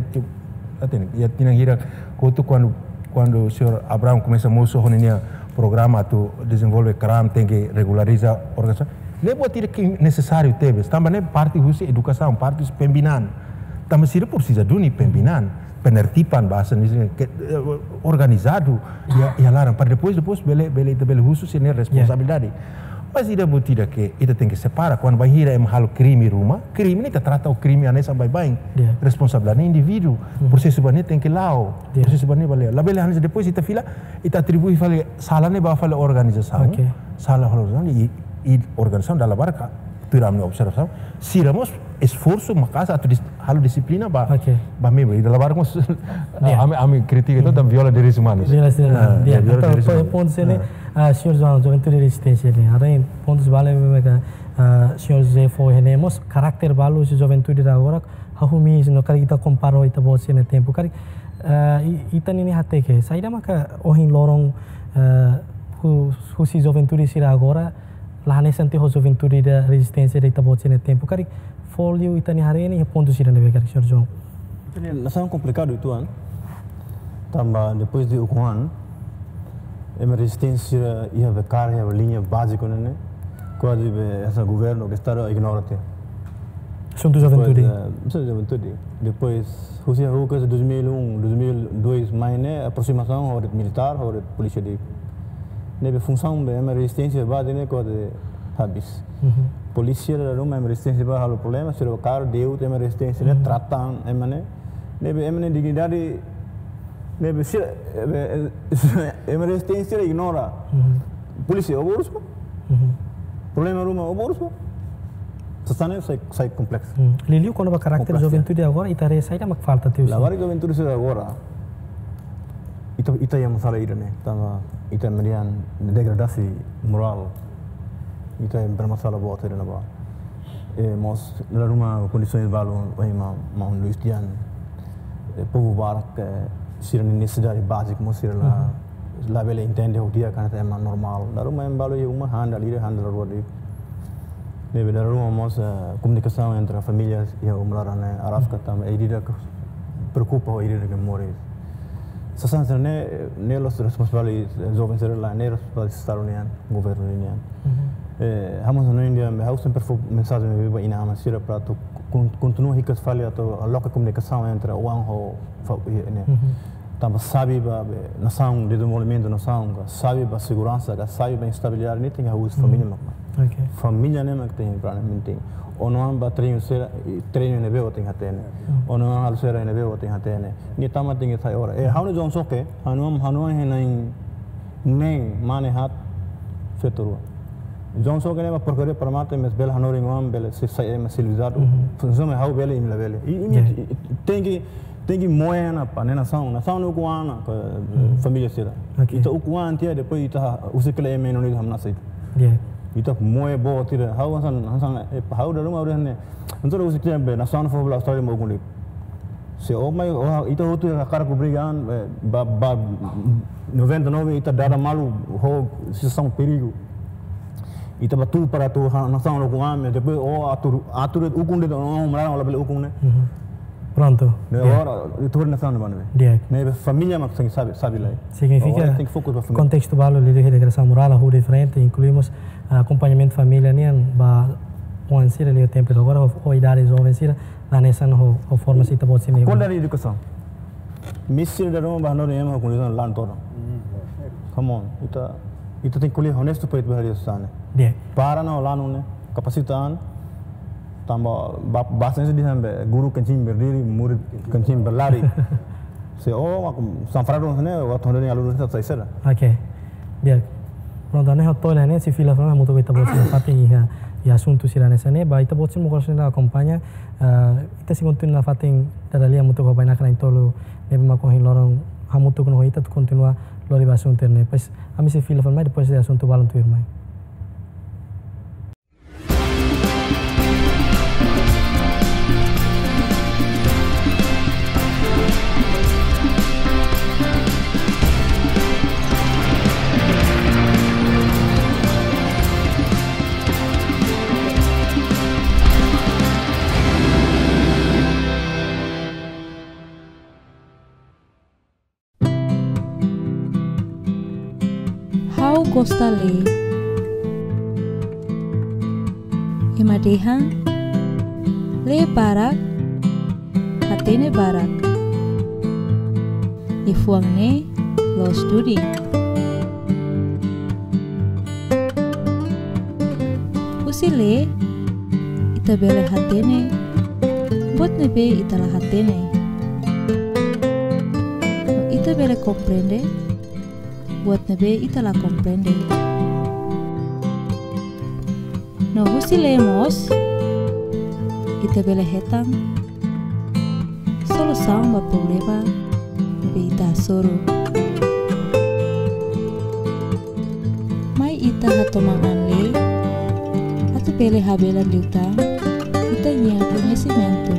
iha, iha tinan hirak kotuk kuandu, kuandu señór Abrão komesa mosu ho ninia programa atu dezenvolve CRAM, tenke regulariza organizasaun. Ne'e buat ida ke nesesáriu tebes. Tanba ne'e parte husi edukasaun, parte husi pembinaan. Tanba sira presiza duni pembinaan, penertiban, bahasa Indonesia ke, eh, organizadu, iha, iha laran. Para depois, depois bele, bele, ita bele husu sira-nia responsabilidade. Mas ida buat ida ke ita tenke separa. Kuandu bainhira ema halo krime ruma, krime ne'e ita trata ho krime hanesan baibain. Responsabilidade indivíduu. Prosesu ba ne'e tenke la'o. Prosesu ba ne'e bele. Labele hanesan depois ita fila, ita atribui fali sala ne'e ba fali organizasaun. Sala fali organizasaun i, i organizasaun dala barak, tuir ami-nia observasaun, sira mós esforsu maka'as atu dis-, halo dixiplina ba, ba membru. I dala barak mós, ami, ami kritika ita, tanba viola direitus umanus. Viola direitus umanus. Ah, viola direitus umanus. Pontu sira-ne'e, ah, señór João, Juventude Rezisténsia ne'e. Haree pontus balu ne'ebé ke, ah, señór José fó iha ne'e mós karakter balu husi juventude ida agora, hahú miis no karik ita kompara ho ita-boot sira-nia tempu. Karik, ah, i-, ita-nia ne'e hateke, saida maka ohin loron, ah, hu-, husi juventude sira agora, la hanesan tiha ho juventude ida rezisténsia ida ita-boot sira-nia tempu. Karik fó liu ita-nia haree ne'e iha pontu sira ne'ebé karik, señór João? Ita-nia nasaun komplikadu uitoan. Tanba depois de ukun an, ema rezisténsia iha be kaer, iha be liña báziku ne'e, ne'e. Kuaze be hanesan governu ka estadu ignora tiha. Asuntu juventude. Depois, eh, asuntu juventude. Depois, husi hahú ke dois mil e um, dois mil e dois mai ne'e, aproximasaun ho de'it militár, ho de'it polísia de'it. Ne'ebé funsaun be ema rezisténsia bá de'it ne'e kuaze habis. Polísia la ruma ema rezisténsia bá halo problema, sira kaer de'it ema rezisténsia ne'e, trata ema ne'e. Ne'ebé ema ne'e dignidade, ne'ebé sira, eh, eh, ema rezisténsia ignora. Polísia, oborus, Problema ruma, oborus, sasán ne'e sai, sai kompleksu. Liuliu kona-ba karakter juventude agora, ita haree saida mak falta tiha husi? Labarik juventude sira agora. Ita, ita iha masalah ida-ne'e, tanba ita merian degradasi morál. Ita iha masalah boot ida-ne'ebá. Eh, mós dala ruma kondisoens balu, eh, ma, maun Luis dehan, eh, povu barak, eh, sira-nia nesesidade bázika mós sira la, Mhm. labele entende ho di'ak katak ema normál. Dala ruma ema balu iha uma han dala ida, han dala rua de'it. Ne'ebé dala ruma mós, eh, komunikasaun entre família iha uma laran ne'e araska Mhm. tanba ida-idak preokupa ho ida-idak moris. Sasán sira-ne'e, ne'e la'ós responsabilidade, eh, joven sira, lae, ne'e responsabilidade Estadu nian, governu nian. Mhm. Eh, ha'u mós hanoin dehan, ha'u sempre fó mensajen ne'e ba inan-aman sira para atu kon-, kontinua hikas fali atu loke komunikasaun entre oan ho fa-, eh, ne'e. Mhm. Tanba xave ba, be, nasaun, dezenvolvimentu nasaun, ka xave ba seguransa, ka xave ba estabilidade, ne'e tenke husi Mhm. família mak. Ok. Família ne'e mak tenke para ne'e penting. Ó-nia oan bá treinu sira, i treinu ne'ebé ó tenke hatene. Mhm. Ó-nia oan halo sira ne'ebé ó tenke hatene. Nia tama tenke sai oras. Eh, ha'u-nia oan sira ke, ha'u-nia oan, ha'u-nia oan iha na'in neen, mane haat, feto rua. Oan sira ke ne'e ba porkaria para mate, mas bele hanorin oan, bele sei sai ema sivilizadu. Mhm. Funsiona ha'u bele, imi labele. I, imi, Ya. i, tenke, tenke moe ona ba, ne'e nasaun, nasaun ukun an, ka, Mhm. família sira. Ok. Ita ukun an tiha, depois ita husik hela ema ne'e ita hamnasa ita. Ya. Ita moe boot ida. Ha'u hanesan, hanesan, eh, ha'u dala ruma ha'u dehan ne'e. Entaun husik tiha be, nasaun fó ba Austrália mak ukun de'it. Se ó mai, ó, ita hotu hakarak briga an, eh, ba, ba, noventa e nove ita dada malu ho situasaun perigu. Ita bá tuur para tuur ha-, nasaun ukun an, depois ó atu, atu de'it ukun de'it, ó, ó, mara, ó labele ukun ne'e. Mhm. Prontu. Ne'e Ya. agora, ita hori nasaun ne'e ba ne'e. Ya. Ne'e família mak tenke xave, xave lai. Signifika Agora tenke fokus ba família. kontestu balu liuliu iha deklarasaun murala, hodi diferente, inkluimos, ah, akompañamentu família nian ba oan sira liu tempu agora, ho, ho idade joven sira, la hanesan ho, ho forma ita-boot sira-nia Kualidade edukasaun. Misi dala ruma ba hanorin ema ho kondisaun laran todan. Mm, ya. Come on, ita, ita tenke ko'alia honestu para ita bá haree sasán ne'e. Ya. Para ona lanu ne'e, kapasita an, tanba ba, bahasa Indonesia dehan be, guru kencing berdiri, murid kencing berlari. Se ó, aku sanfrado ne'e, waktu hanorin alun sira sai saida. Ok. Ya. Prontu, ne'e hotu ne'e, sei fila fali hamutuk ho ita-boot sira nafatin iha, iha asuntu sira hanesan ne'e, ba ita-boot sira mós kontinua akompaña, ah, ita sei kontinua nafatin dada lia hamutuk ho bainaka na'in-tolu ne'ebé mak ohin loron hamutuk ho ita atu kontinua lori ba asuntu ne'e. Depois, ami sei fila fali mai, depois de asuntu balun tuirmai. Ha'u gosta lee. Ema dehan, lee barak, hatene barak. Liafuan ne'e loos duni. Husi lee, ita bele hatene buat ne'ebé ita la hatene. No ita bele komprende buat ne'ebé ita la komprende. No husi lee mós, ita bele hetan solusaun ba problema ne'ebé ita hasoru. Mai ita hatoman an lee, atu bele habelar liután ita-nia koñesimentu.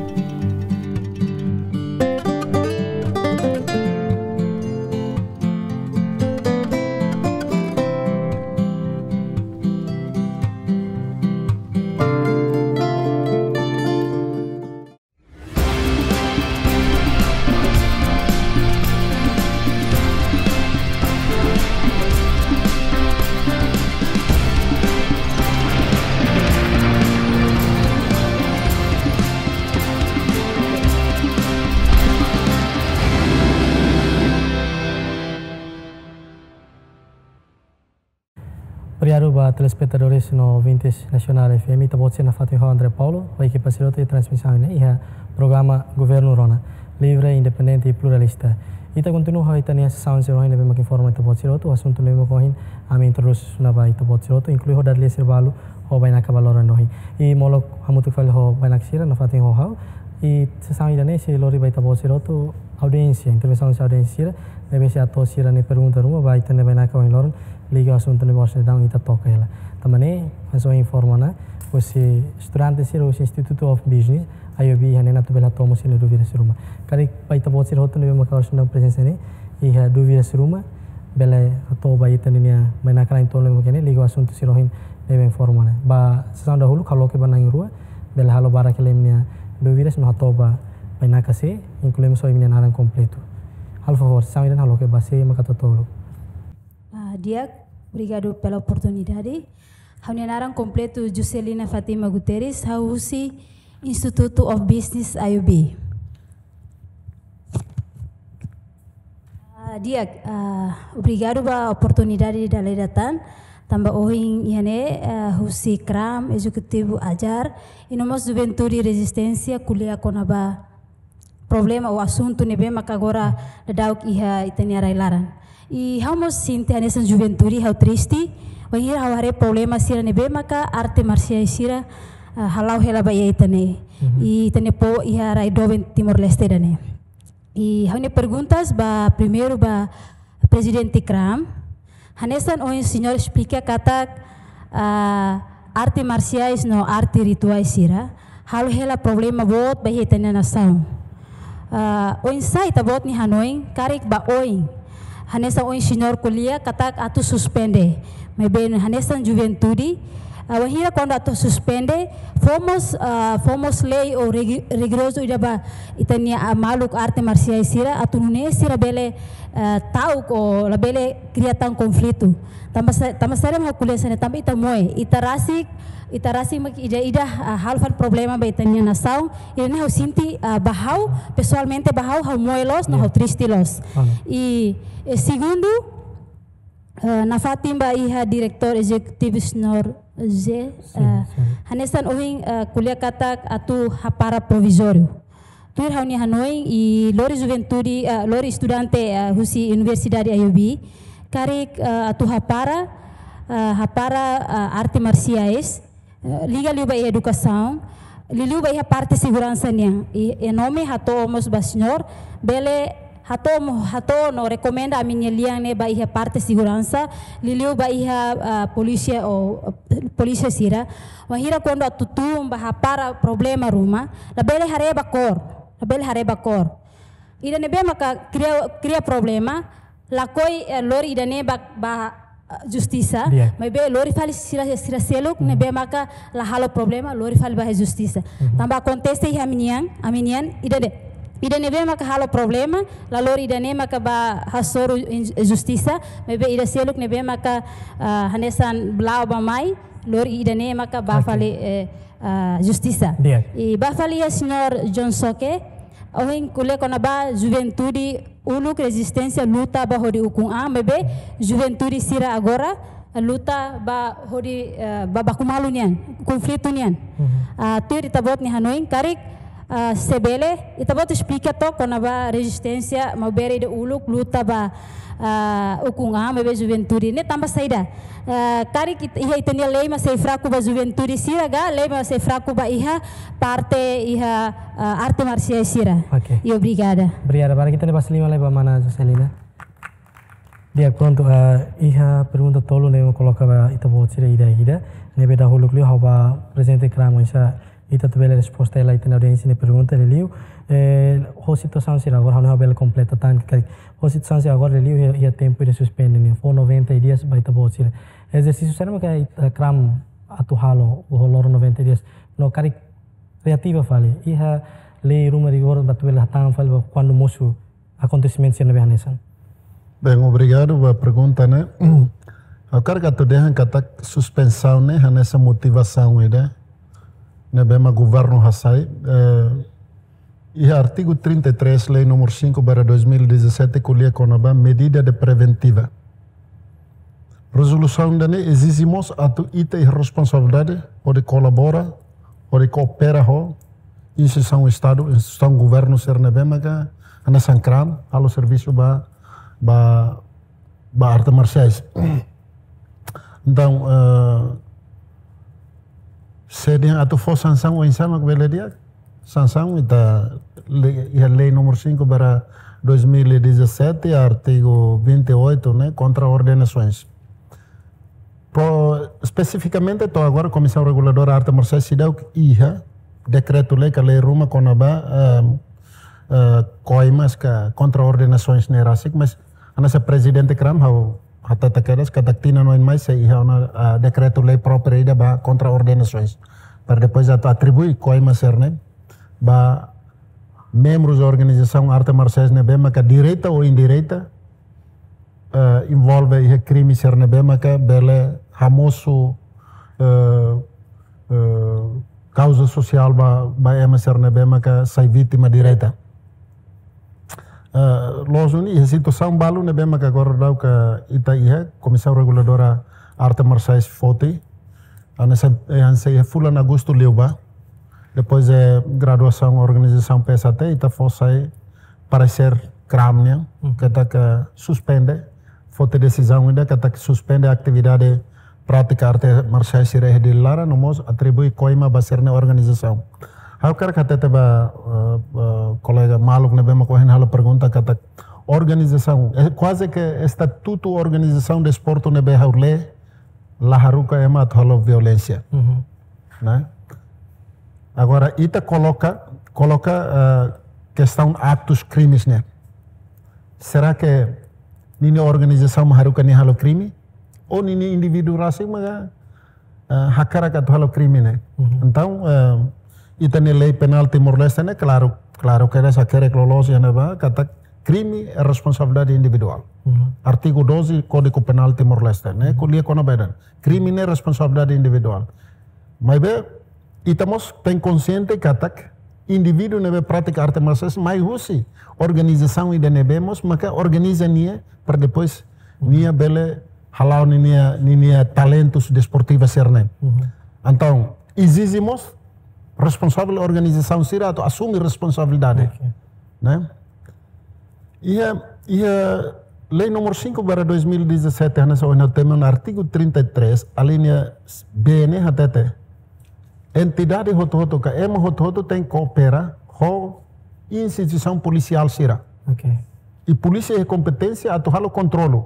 Obrigadu ba telespetadores no ouvintes Nasionál F M, ita-boot sira nafatin ho André Paulo, ho ekipa sira hotu iha transmisaun ne'e iha programa Governu Rona, livre, independente i pluralista. Ita kontinua ho ita-nia sesaun sira ohin ne'ebé mak informa ita-boot sira hotu, asuntu ne'ebé mak ohin ami introdús ona ba ita-boot sira hotu, inklui ho dada lia sira balu ho bainaka ba loron ohin. I molok hamutuk fali ho bainaka sira nafatin ho ha'u, i sesaun ida-ne'e sei lori ba ita-boot sira hotu audiénsia, intervensaun husi audiénsia sira, ne'ebé sei hato'o sira-nia pergunta ruma ba ita-nia bainaka ohin loron, Liga asuntu ne'ebé orsida ita toka hela. Tanba ne'e, hanesan informa ona, husi estudante sira husi Institute of Business, I O B, iha ne'e atu bele hato'o mós sira-nia dúvida sira ruma. Karik ba ita-boot sira hotu ne'ebé maka orsida prezensa ne'e, iha dúvida sira ruma, bele hato'o ba ita ninia bainaka na'in-tolu ne'ebé maka ne'e, liga asuntu sira ohin ne'ebé informa ona. Ba sesaun dahuluk ha'u loke ba na'in-rua, bele halo barak hela imi-nia dúvidas no hato'o ba bainaka sé, inklui mós ho imi-nia naran kompletu. Halo favór, sesaun ida-ne'e ha'u loke ba sé maka totolu. Ah, di'ak, obrigadu pela oportunidade. Ha'u-nia naran kompletu Juscelina Fátima Guterres, ha'u husi Institute of Business I O B. Ah, di'ak, ah, obrigadu ba oportunidade ida-ne'e dada tan, tanba ohin iha ne'e, ah, husi kram, ezekutivu ajar, i no mós juventude rezisténsia ko'alia kona-ba problema ou asuntu ne'ebé maka agora daudaun iha ita-nia rai-laran. I ha'u mós sente hanesan juventude ha'u triste, bainhira ha'u haree problema sira ne'ebé maka arte marsiais sira, ah, hala'o hela ba iha ita-nia. Mhm. I ita-nia povu iha rai doben Timor-Leste ida-ne'e. I ha'u-nia perguntas ba primeiru ba Prezidente kram. Hanesan ohin señór esplika katak, ah, arte marsiais no arte rituais sira halo hela problema boot ba iha ita-nia nasaun. Ah, oinsá ita-boot nia hanoin karik ba oin? Hanesan ohin señór ko'alia katak atu suspende. Maibé hanesan juventude, ah, wainhira kuandu atu suspende, fó mós, ah, fó mós lei ou rigi-, rigorozu ida ba ita-nia, ah, maluk arte marsiais sira, atu nune'e sira bele, ah, ta'uk ou labele kria tan konflitu. Tanba sa-, tanba saida mak ha'u ko'alia hanesan ne'e, tanba ita moe, ita rasik, ita rasik mak ida-idak, ah, halo fali problema ba ita-nia nasaun, ida-ne'e ha'u sente, ah, ba ha'u, pesoalmente ba ha'u, ha'u moe loos, no, ya, ha'u triste loos. Anu. I, eh, segundu, eh, nafatin ba iha diretór ezekutivu señór José, sin, eh, sin, hanesan ohin, eh, ko'alia katak atu hapara provizóriu. Tuir ha'u-nia hanoin, i lori juventude, eh, lori estudante, eh, husi Universidade I O B, karik, eh, atu hapara, eh, hapara, eh, arte marsiais, eh, liga liu ba iha edukasaun, liuliu ba iha parte seguransa nian. I, i nome hato'o mós ba señór, bele hato'o mo-, hato'o no rekomenda ami-nia lian ne'e ba iha parte seguransa, liuliu ba iha, ah, polísia ou, eh, polísia sira. Wainhira kuandu atu tun ba hapara problema ruma, labele haree ba kór, labele haree ba kór. Ida ne'ebé maka kria, kria problema, lakohi, eh, lori ida-ne'e ba, ba, eh, justisa, di'ak, maibé lori fali sira, sira seluk, mhm, ne'ebé maka la halo problema, lori fali ba iha justisa. Mhm. Tanba akontese iha ami-nian, ami-nian, ida-ne'e, ida ne'ebé maka halo problema, la lori ida-ne'e maka ba hasoru in-, justisa, maibé ida seluk ne'ebé maka, ah, hanesan la'o ba mai, lori ida-ne'e maka ba, oke, fali, eh, ah, justisa. Di'ak. I ba fali iha señór John Soke, ohin ko'alia kona-ba juventude uluk rezisténsia luta ba hodi ukun an, maibé juventude sira agora luta ba hodi, eh, ba baku malu nian, konflitu nian. Mhm. Ah, tuir ita-boot nia hanoin karik, ah, se bele, ita-boot esplika took kona-ba rezisténsia maubere ida uluk luta ba, ah, ukun an, maibé juventude ne'e tanba saida? Eh, karik it-, iha ita-nia lei mak sei fraku ba juventude sira ka, lei mak sei fraku ba iha parte iha, eh, arte marsiais sira. Oke. I obrigada. Obrigada. Barak ita-nia basa liman lai ba mana Juscelina. Di'ak, prontu, eh, iha pergunta tolu ne'ebé koloka ba ita-boot sira ida-idak. Ne'ebé dahuluk liu ha'u ba Prezidente kram oinsá ita atu bele resposta hela ita-nia audiénsia nia pergunta, liuliu, eh, ho situasaun sira agora, ha'u bele kompleta tan karik, ho situasaun sira agora, liuliu iha, iha tempu ida suspende ne'e, fó noventa dias ba ita-boot sira. Ezersísiu saida maka ita, eh, kram atu halo, ho loron noventa dias. No karik reativa fali, iha lei ruma rigor ba atu bele hatán fali ba kuandu mosu akontesimentu sira ne'ebé hanesan. Bem, obrigadu ba pergunta ne'e. Ha'u hakarak atu dehan katak suspensaun ne'e hanesan motivasaun ida ne'ebé mak governu hasai, eh, iha artigu trinta e três, lei númeru cinco barra dois mil e dezassete, ko'alia kona-ba medida de preventiva. Rezolusaun ida-ne'e ezije mós atu ita iha responsabilidade hodi kolabora, hodi koopera ho instituisaun Estadu, instituisaun governu sira ne'ebé maka hanesan kram, halo servisu ba, ba, ba arte marsiais. Entaun, eh, se dehan atu fó sansaun oinsá mak bele di'ak? Sansaun ita le-, iha lei númeru cinco barra dois mil e dezassete, artigu vinte e oito, ne'e, kontra ordenasoens. To'o espesifikamente to'o agora Komisaun Reguladora Arte Marsiais seidauk iha dekretu-lei ka lei ruma kona-ba, ehm, eh, koimas ka kontra-ordenasoens ne'e rasik, mas hanesan Prezidente kram ha'u hatete kedas katak tinan oin mai sei iha ona, ah, dekretu-lei própriu ida ba kontra-ordenasoens. Para depois atu atribui koimas sira-ne'e ba membrus organizasaun arte marsiais ne'ebé maka direta ou indireta, eh, envolve iha krime sira ne'ebé maka bele hamosu, eh, eh, kauza sosiál ba, ba ema sira ne'ebé maka sai vítima direta. Eh, loos duni iha situasaun balu ne'ebé maka agora daudaun ita iha Komisaun Reguladora Arte Marsiais foti, hanesan, eh, hanesan iha fulan Agostu liubá. Depois de graduasaun organizasaun P S H T, ita fó sai paresér kram nian, Mhm. katak suspende, foti desizaun ida katak suspende atividade prátika arte marsiais sira iha Dili laran, no mós atribui koima ba sira-nia organizasaun. Ha'u hakarak hatete ba, eh, eh, kolega maluk ne'ebé mak ohin halo pergunta katak organizasaun, eh, kuaze ke estatutu organizasaun desportu ne'ebé ha'u lee, la haruka ema atu halo violénsia. Mhm. Ne'e? Agora, ita koloka, koloka, eh, kestaun aktus krimes ne'e. Será ke ninia organizasaun mak haruka nia halo krime? Ou ninia indivíduu rasik maka, eh, hakarak atu halo krime ne'e? Mhm. Entaun, eh, ita-nia lei penál Timor-Leste ne'e, klaru, klaru kedas hakerek loloos iha ne'ebá, katak krime é responsabilidade individuál. Mhm. Artigu doze Kódigu Penál Timor-Leste ne'e, Mhm. ko'alia kona-ba ida-ne'e. Krime ne'e responsabilidade individuál. Maibé, ita mós tenke konsiente katak indivíduu ne'ebé pratika arte marsiais mai husi organizasaun ida ne'ebé mós maka organiza nia para depois Mhm. nia bele hala'o ninia, ninia talentus desportivu sira-ne'e. Mhm. Entaun, ezije mós responsavel organizasaun sira atu asume responsabilidade. Ok. Ne'e? Iha, iha lei númeru cinco barra dois mil e dezassete, hanesan ohin ha'u temi ona, artigu trinta e três, alínea B ne'e hatete, entidade hotu-hotu ka ema hotu-hotu tenke koopera ho instituisaun polisiál sira. Ok. I polísia iha kompeténsia atu halo kontrolu,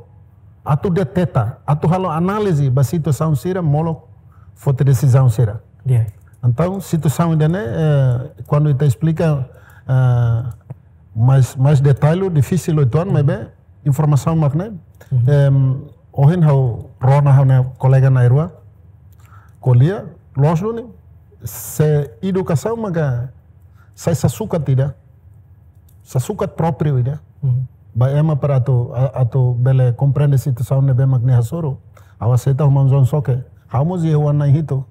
atu deteta, atu halo análize ba situasaun sira, molok foti desizaun sira. Di'ak. Entaun, situasaun ida-ne'e, eh, kuandu ita esplika, eh, mais, mais detallu, difisil uitoan, Mhm. maibé informasaun mak ne'e. Mhm. Em, ohin ha'u rona ha'u-nia kolega na'in-rua ko'alia, loos duni, se edukasaun maka sai sasukat ida, sasukat própriu ida. Mhm. Ba ema para atu, a-, atu bele komprende situasaun ne'ebé mak nia hasoru. Ha'u aseita ho manu-soin soke. Ha'u mós iha oan na'in-hitu.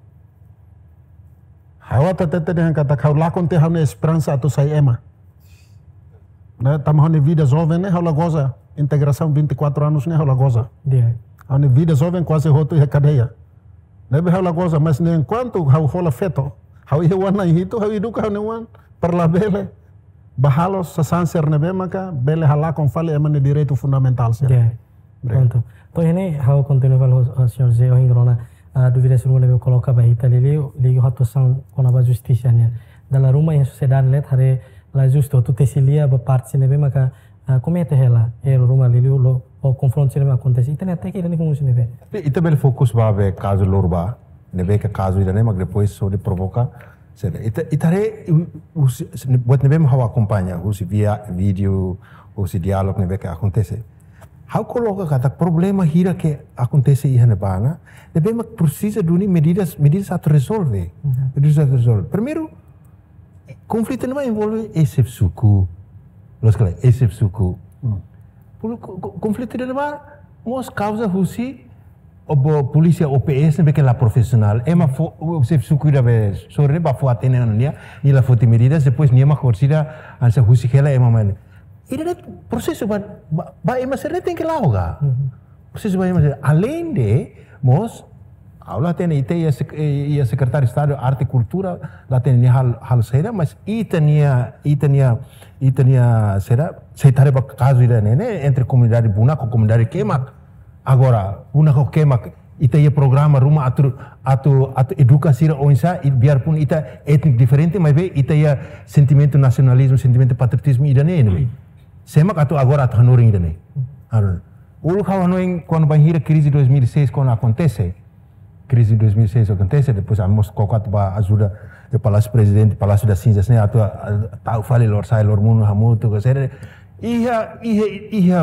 Ha'u atu hatete dehan katak ha'u lakon tiha ha'u-nia esperansa atu sai ema. Ne'e, tanba ha'u-nia vida joven ne'e ha'u la goza. Integrasaun vinte e quatro anos ne'e ha'u la goza. Di'ak. Ha'u-nia vida joven kuaze hotu iha kadeia. Ne'ebé ha'u la goza, mas ne'e enkuantu ha'u hola feto, ha'u iha oan na'in-hitu, ha'u eduka ha'u-nia oan para labele bá halo sasán sira ne'ebé maka bele halakon fali ema nia direitu fundamentál sira. Di'ak. Obrigadu. Prontu. Entaun, iha ne'e ha'u kontinua fali ho, ho señór Zé ohin rona, ah, dúvidas ruma ne'ebé koloka ba ita liuliu, liga ho atuasaun kona-ba justisa nian. Dala ruma iha sosiedade ne'e haree la justu, atu tesi lia ba parte ne'ebé maka, ah, komete hela erru ruma liuliu ho konfrontu sira ne'ebé akontese. Ita-nia hateke ida-ne'e husi ne'ebé? Ita bele fokus ba be kazu Lorba, ne'ebé ke kazu ida-ne'e mak depois hodi provoka. Sede, ita, ita haree, u-, husi, buat ne'ebé mak ha'u akompaña, husi via vídeo, husi diálogu ne'ebé ke akontese. Ha'u koloka katak problema hira ke akontese iha ne'ebá ne'e, ne'ebé mak presiza duni medidas, medidas atu rezolve. Mhm. Medidas atu rezolve. Primeiru, konflitu ne'ebá envolve xefe suku. Loos ka lae, xefe suku. Hmm. Pul-, ko-, ko-, konflitu ida-ne'ebá mós kauza husi polísia O P S ne'ebé ke la profisionál. Ema fó, xefe suku ida be sorin ne'e bá fó hatene ona nia, nia la foti medidas, depois nia mak orsida hanesan husik hela ema mai. Ida-ne'e prosesu ba, ba, ba ema sira-ne'e tenke la'o ka. Mhm. Prosesu ba ema sira. Alende mós, ha'u la hatene ita iha sek-, eh, iha Sekretáriu Estadu Arte i Kultura, la hatene nia hal-, halo saida, mas ita-nia, ita-nia, ita-nia saida, se ita haree ba kazu ida-ne'e, ne'e, entre komunidade Bunak ho komunidade Kemak. Agora, Bunak ho Kemak, ita iha programa ruma atu, atu, atu eduka sira oinsá, i biarpun ita étniku diferente, maibé ita iha sentimentu nasionalizmu, sentimentu patriotizmu ida-ne'e, ne'e. Sé mak atu agora atu hanorin ida-ne'e. Hanorin. Uluk ha'u hanoin kuandu bainhira krize dois mil e seis kuandu akontese, krize dois mil e seis akontese, depois ami mós koko atu bá ajuda iha Palásiu Prezidente, Palásiu das Cinzas ne'e atu, ah, tau fali lorosa'e, loromonu hamutuk, ke sere. Iha, iha, iha,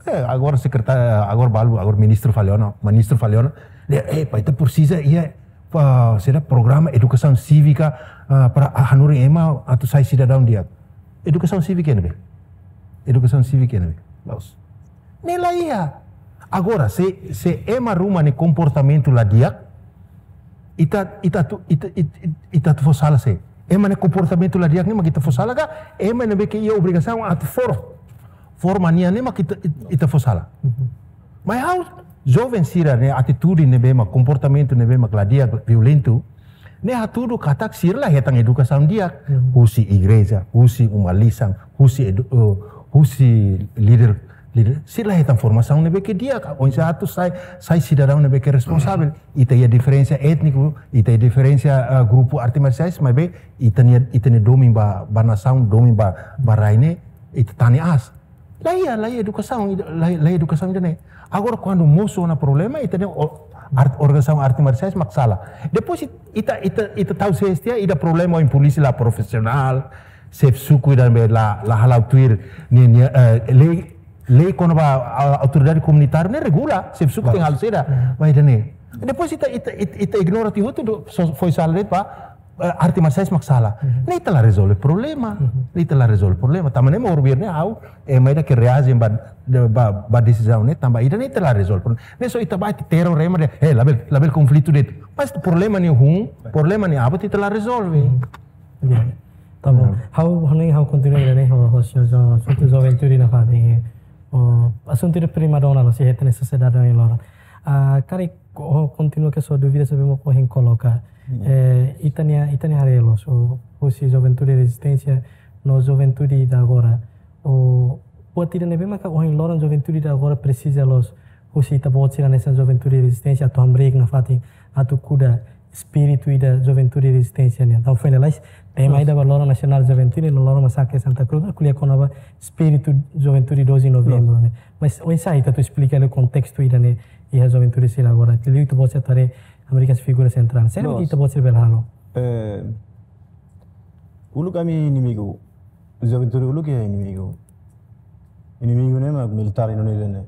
eh, agora sekretáriu, agora balu, agora ministru fali ona, ministru fali ona. Dehan, eh, ita presiza iha, pa, saida, programa edukasaun sívika, ah, para, ah, hanorin ema atu sai sidadaun di'ak. Edukasaun sívika ne'ebé? Edukasaun sívika ne'ebé? La'ós. Ne'e la iha. Agora, se, se ema ruma nia komportamentu la di'ak, ita, ita atu, ita, ita, ita atu fó sala sé? Ema nia komportamentu la di'ak ne'e mak ita fó sala ka ema ne'ebé ke iha obrigasaun atu for-, forma nia ne'e mak ita, ita, ita fó sala? Mhm. Maibé ha'u, joven sira-nia atitude ne'ebé mak, komportamentu ne'ebé mak la di'ak, violentu, ne'e hatudu katak sira la hetan edukasaun di'ak, mhm, husi igreja, husi uma-lisan, husi edu-, eh, husi líder, líder, sira la hetan formasaun ne'ebé ke di'ak, oinsá atu sai, sai sidadaun ne'ebé ke responsavel. Ita iha diferensa étniku, ita iha diferensa, ah, grupu arte marsiais, maibé ita-nia, ita-nia domin ba, ba nasaun, domin ba, ba rai ne'e, ita tane aas. La iha, la iha edukasaun, la, la iha edukasaun ida-ne'e. Agora, kuandu mosu ona problema, ita-nia o-, art-, organizasaun arte marsiais mak sala. Depois it-, ita, ita, ita tau sé tiha, ita problema ho polísia la profisionál, xefe suku ida-ne'ebé la, la hala'o tuir nia, nia, eh, lei, lei kona-ba, ah, autoridade komunitária ne'e regula, xefe suku, klaru, tenke halo saida, mhm, ba ida-ne'e. Depois ita, ita, ita, ita ignora tiha hotu, só foin sala de'it ba, eh, arte marsiais mak sala. Mhm. Ne'e ita la rezolve problema. Mhm. Ne'e ita la rezolve problema. Tanba ne'e mak orbir ne'e ha'u, eh, ema ida ke reajen ba, de, ba, ba desizaun ne'e, tanba ida-ne'e ita la rezolve problema. Ne'e só ita bá ita teror ema dehan, eh, labele, labele konflitu de'it. Mas problema ne'e hun, problema ne'e aban ita la rezolve. Mhm. Ya. Tá bom. Mhm. Ha'u, ha'u ne'e, ha'u kontinua ida-ne'e, ho, ho, ho, ho, ho, ho juventude nafatin. Ho, asuntu ida primadona, no, se hetan iha sosiedade ne'e loron. Ah, karik, ho, kontinua ke sua dúvida, sabe mo ko hin koloka. Hmm. Eh, ita-nia, ita-nia haree loos, o, husi juventude rezisténsia, no juventude ida agora. O, buat ida ne'ebé maka ohin loron juventude ida agora presiza loos, husi ita-boot sira hanesan juventude rezisténsia atu hamriik nafatin, atu kuda espíritu ida juventude rezisténsia nian. Entaun, foin lalais, tema, loos, ida ba loron nasionál juventude, no loron masakre Santa Cruz, ko'alia kona-ba espíritu juventude doze de novembro, loos, ne'e. Mas, oinsá ita atu esplika hela kontestu ida-ne'e, iha juventude sira agora. Liuliu ita-boot sira atu haree Amerika figura sentrál. Saida, loos, ita-boot sira bele halo? Eh, uluk ami inimigu. Juventude uluk iha inimigu. Inimigu ne'e mak militár Indonézia ne'e.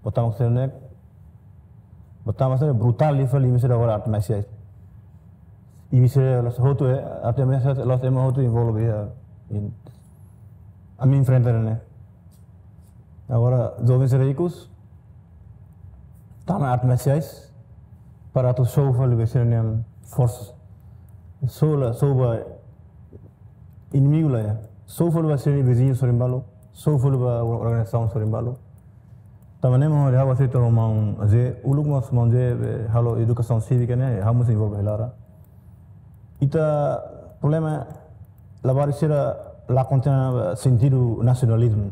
Botamos sira ne'e, botamos sira brutál liu fali, imi sira agora arte marsiais. Imi sira la'ós hotu, eh, arte marsiais, la'ós ema hotu envolve iha, in-, ami enfrenta ne'e. Agora, joven sira ikus tama arte marsiais para atu show fali ba sira-nia forsa. Show la, show ba inimigu la iha. Show fali ba sira-nia viziñu sorin balu. Show fali ba organizasaun sorin balu. Tanba ne'e mak ha'u aseita ho maun José, uluk mós maun José, eh, halo edukasaun sívika ne'e, ha'u mós envolve hela. Ita problema labarik sira la kontém, eh, sentidu nasionalizmu.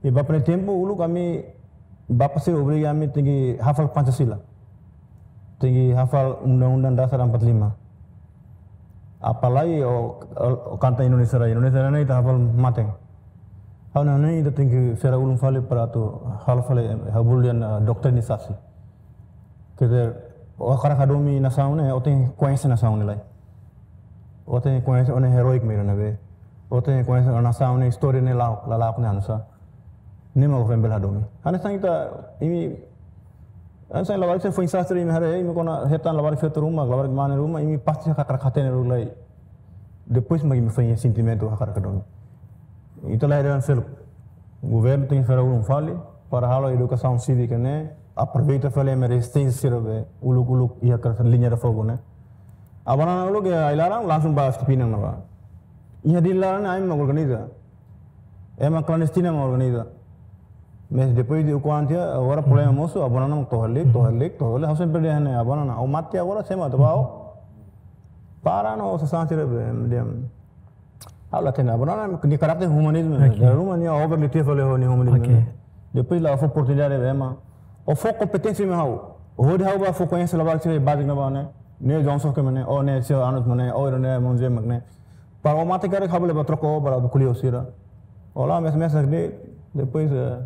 I ba premeiru tempu uluk ami, bapa sira obriga ami tenke hafal Pancasila. Tenke hafal Undang-Undang Dasar empat lima. Apalagi o, o, o kanta Indonesia Raya. Indonesia Raya ne'e ita hafal mate. Ha'u hanoin ita tenke sera ulun fali para atu halo fali, eh, ha'u bolu dehan, eh, doutrinisasi. Quer dizer, o hakarak hadomi nasaun ne'e, o tenke koñese nasaun ne'e lai. O tenke koñese o-nia heróiku mak ne'ebé. O tenke koñese o-nia nasaun ne'e, istória ne'e la'o, la la'o ne'e hanesan. Ne'e mak o foin bele hadomi. Hanesan ita, imi, hanesan labarik sira foin sastra imi haree, imi kuandu hetan labarik feto ruma, labarik mane ruma, imi pasti hakarak hatene uluk lai. Depois mak imi foin iha sentimentu hakarak hadomi. Ita la hetan seluk. Governu tenke sera ulun fali, para halo edukasaun sívika ne'e, aproveita fali ema rezisténsia sira be, uluk-uluk iha ka liña de fogo ne'e. Abanana uluk iha ai-laran, langsung ba Filipinas ne'ebá. Iha di laran ai-laran mak organiza. Ema klandestina mak organiza. Mas depois de ukun tiha, agora problema, mhm, mosu, abanana mak to'o hale'ek, to'o, mhm, hale'ek, to'o hale'ek. Ha'u sempre dehan ne'e, abanana, ó mate agora, sé mak atu bá, ó. Mhm. Para no, sasán sira be, diam. Ha'u la hatene, abanana nia karakter humanizmu. Oke. Dala ruma nia over liu tiha fali ho nia humanizmu, oke, ne'e. Depois la fó oportunidade ba ema. Ó fó kompeténsia mai ha'u. Hodi ha'u bá fó koñese labarik sira báziku ne'ebá ne'e. Ne'e João Soke mak ne'e, ó ne'e Sir Arnold mak ne'e, ó ne'e Monje mak ne'e. Para ó mate karik ha'u bele bá troka ó para bá ko'alia ho sira. Ó la, mes, mes de, depois, eh,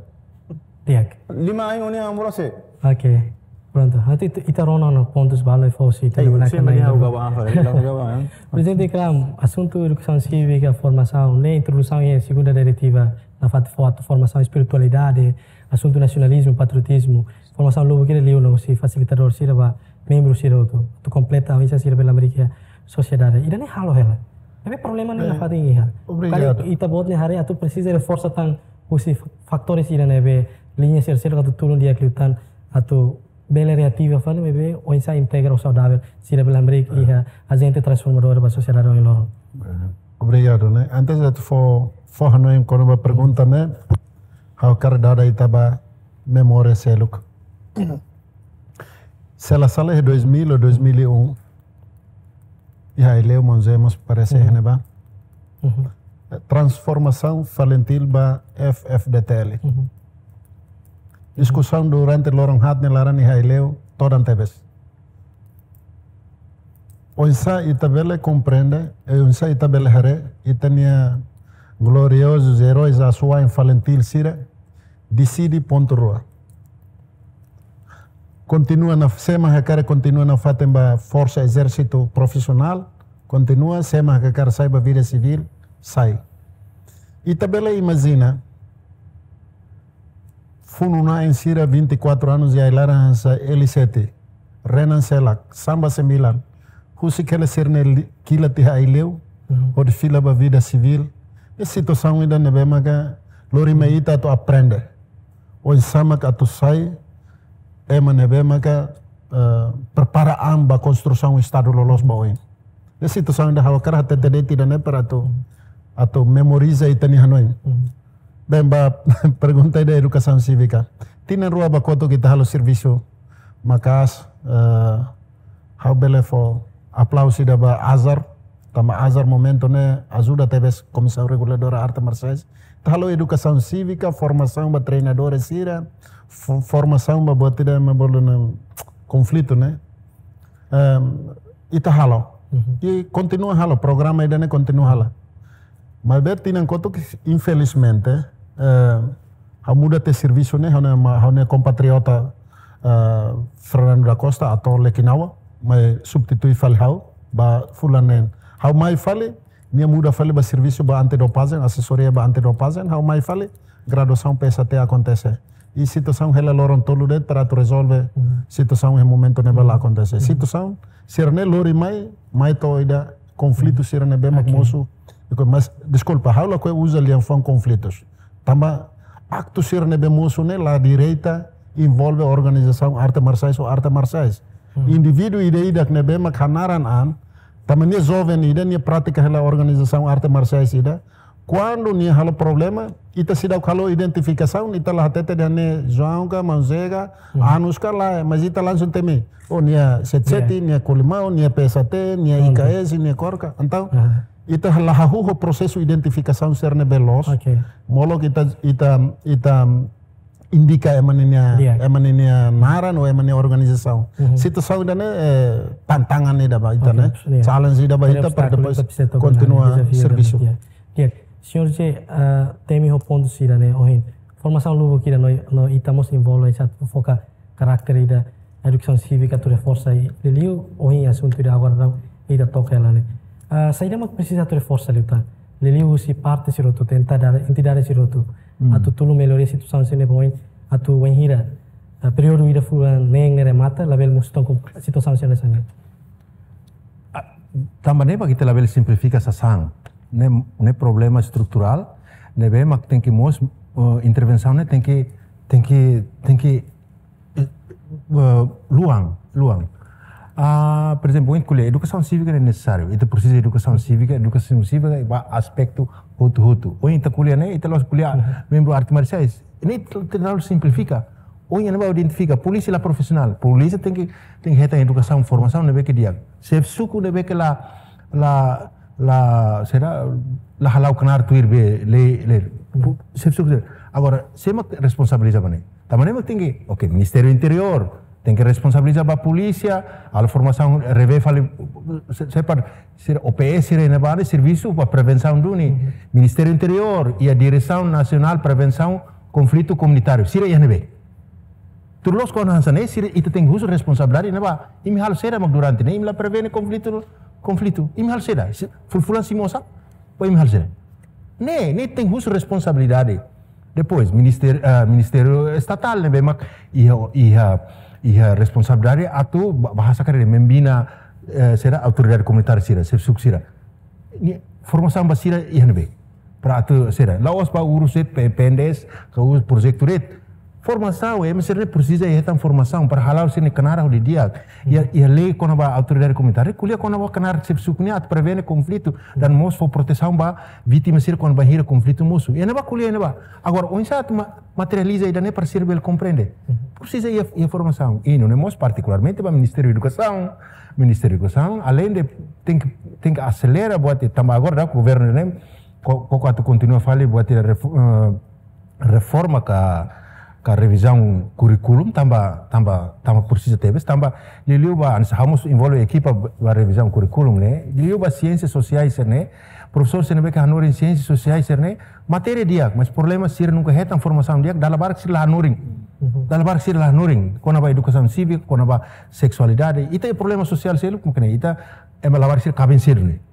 di'ak. Lima ain ó-nia moras sé. Oke. Prontu, atu ita, ita rona no pontus balu fó husi, ita. Ei, rona sin, kanan mani ha'u ida. Gawa, ha'u gawa, eh. Prezidente Kram, asuntu edukasaun sívika, formasaun, ne'e introdusaun iha segunda diretiva, nafatin fó atu formasaun espiritualidade, asuntu nasionalizmu, patriotizmu, formasaun lubuk ida liu no husi fasilitadór sira ba membru sira hotu, atu kompleta oinsá sira bele hamriik iha sosiedade. Ida-ne'e halo hela. Ne'ebé problema ne'e, eh, nafatin iha. Obrigadu. Karik ita-boot ne'e haree atu presiza reforsa tan husi fatór sira ne'ebé liña sira seluk atu tulun di'ak liután atu bele reativa fali, maibé oinsá integra ho saudavel sira bele hamriik, eh, iha ajente transformadór ba sosiedade ohin loron. Eh, obrigadu, ne'e. Antes de fó, fó hanoin kona-ba pergunta ne'e, ha'u hakarak dada ita-boot memória seluk. Se la sala iha dois mil ou dois mil e um, iha Aileu, Mons Emos parese, uhum, iha ne'ebá. Uhum. Transformasaun FALINTIL ba F F D T L. Uhum. Diskusaun durante loron haat nia laran iha Aileu, todan tebes. Oinsá ita bele komprende, eh, oinsá ita bele haree, ita-nia gloriozus eróis asuwa'in FALINTIL sira, deside pontu rua. Kontinua na, sé mak hakarak kontinua nafatin ba forsa ezérsitu profisionál, kontinua, sé mak hakarak sai ba vida sivíl, sai. Ita bele imajina, funu-na'in sira vinte e quatro anos iha ai-laran hanesan L sete, Renan Selak, Samba Sembilan, husik hela sira-nia li-, kilat iha Aileu, mhm, hodi fila ba vida sivíl. Ne'e situasaun ida ne'ebé maka lori mai, mhm, ita atu aprende. Oinsá mak atu sai ema ne'ebé maka, eh, prepara an ba konstrusaun Estadu loloos ba oin. Ne'e situasaun ida ha'u hakarak hatete de'it ida-ne'e para atu, atu memoriza ita-nia hanoin. Mhm. Bem, ba pergunta ida edukasaun sívika. Tinan rua ba kotuk ita halo servisu maka'as, eh, ha'u bele fó aplauzu ida ba Azar, tanba Azar momentu ne'e ajuda tebes Komisaun Reguladora Arte Marsiais. Ita halo edukasaun sívika, formasaun ba treinadores sira, fo-, formasaun ba buat ida mak bolu ne'e konflitu ne'e. Em, ita halo. Mhm. I kontinua halo, programa ida-ne'e kontinua halo. Maibé tinan kotuk, infelizmente, eh, ha'u muda tiha servisu ne'e, ha'u-nia ma-, ha'u-nia kompatriota, eh, Fernando da Costa, ator Lekinawa, mai substitui fali ha'u, ba fulan neen. Ha'u mai fali, nia muda fali ba servisu ba antidopajen, asesoria ba antidopajen, ha'u mai fali, graduasaun P S H T akontese. I situasaun hela loron tolu de'it para atu rezolve, mhm, situasaun iha momentu ne'ebá la, mhm, akontese. Mhm. Situasaun sira-ne'e lori mai, mai to'o ida konflitu, mhm, sira ne'ebé mak, oke, mosu. Iko, mas, deskulpa, ha'u lakohi uza lian-fuan konflitus. Tanba aktu sira ne'ebé mosu ne'e la direta envolve organizasaun arte marsiais ou arte marsiais. Mhm. Indivíduu ida-idak ne'ebé mak hanaran an, tanba nia joven ida, nia pratika hela organizasaun arte marsiais ida, kuandu nia halo problema, ita seidauk halo identifikasaun, ita la hatete dehan ne'e João ka, Maun Zé ka, mhm, Anus ka, lae, mas ita langsung temi. Oh, nia sete sete, iya, nia Kolimau, nia P S H T, nia, prontu, I K S, nia KOR ka. Entaun, aha, ita la hahú ho prosesu identifikasaun sira ne'ebé loos. Oke. Molok ita, ita, ita indika ema ninia, iya, ema ninia naran ou ema nia organizasaun. Mhm. Situasaun ida-ne'e, eh, tantangan ida ba ita, oke, ne'e, iya, challenge ida ba ita para obstákulu, depois ita presiza toka na kontinua dezafiu ida servisu. Iya. Di'ak, señór Zé, eh, temi ho pontu sira-ne'e ohin. Formasaun lubuk ida no, no ita mós envolve, ita foka karakter ida edukasaun sívika atu reforsa i liuliu ohin asuntu ida agora daudaun ita toka hela ne'e. Ah, saida mak presiza atu reforsa liután? Liuliu husi parte sira hotu, entidade, entidade sira hotu. Hmm. Atu tulun melhoria situasaun sira-ne'e ba oin, atu wainhira, ah, períodu ida fulan neen ne'e remata, labele mosu tan ho situasaun sira hanesan ne'e. Ah, tanba ne'e mak ita labele simplifika sasán. Ne'e, ne'e problema estruturál, ne'ebé mak tenke mós, eh, intervensaun ne'e tenke, tenke, tenke, eh, eh, luan, luan. Ah, por ezemplu, ohin ko'alia, edukasaun sívika ne'e nesesáriu. Ita presiza edukasaun sívika, edukasaun sívika ba aspetu hotu-hotu. Ohin ita ko'alia ne'e, ita la'ós ko'alia, mhm, membru arte marsiais. Ne'e terlalu simplifika. Ohin ne'e ba identifika, polísia la profisionál. Polísia tenke, tenke hetan edukasaun, formasaun ne'ebé ke di'ak. Xefe suku ne'ebé ke la, la, la, sira, la hala'o knaar tuir be lei, lei. Pu-, xefe suku. Agora, sé mak responsabiliza ba ne'e? Tanba ne'e mak tenke, oke, Ministériu Interiór tenke responsabiliza ba polísia, halo formasaun, revee fali, se-, sepa, sira O P S sira iha ne'ebá ne'e servisu ba prevensaun duni. Mhm. Ministériu Interiór iha Diresaun Nasionál Prevensaun Konflitu Komunitáriu. Sira iha ne'ebé? Tuir loloos kona hanesan ne'e, sira ita tenke husu responsabilidade ne'ebá. Imi halo saida mak durante ne'e, imi la prevene konflitu, konflitu. Imi halo saida, se fulan-fulan simu osan, ba imi halo saida. Ne'e, ne'e tenke husu responsabilidade. Depois, ministériu, ah, ministériu estatál ne'ebé mak iha, iha, iha responsabilidade atu ba-, bahasa kare membina, eh, sira autoridade komunitária sira, xefe suku sira. Nia formasaun ba sira iha ne'ebé. Para atu sira. La'ós ba urus de'it, P-, P N D S, ka urus projetu de'it. Formasaun, ema sira ne'e presiza hetan formasaun para hala'o sira-nia knaar hodi di'ak. Iha, iha lei kona-ba autoridade komunitária, ko'alia kona-ba knaar xefe suku nian atu prevene konflitu, dan mós fó protesaun ba vítima sira kona-ba bainhira konflitu mosu. Iha ne'ebá ko'alia iha ne'ebá. Agora, oinsá atu ma-, materializa ida-ne'e para sira bele komprende. Presiza iha, iha formasaun. I nune'e mós partikularmente ba Ministériu Edukasaun, Ministériu Edukasaun, além de tenke, tenke aselera buat ida, tanba agora daudaun governu ne'e, ko-, koko atu kontinua fali buat ida refo-, eh, reforma ka, ka revizaun kurríkulu, tanba, tanba, tanba presiza tebes, tanba liuliu ba, hanesan ha'u mós envolve ekipa ba, ba revizaun kurríkulu ne'e, liuliu ba siénsia sosiál sira-ne'e, profesór sira ne'ebé ke hanorin siénsia sosiál sira-ne'e, matéria di'ak, mas problema sira nunka hetan formasaun di'ak, dala barak sira la hanorin. Dala barak sira la hanorin, kona-ba edukasaun sívika, kona-ba seksualidade. Ita iha problema sosiál seluk, mungkin ita, ema la barak sira kaben sedu ne'e.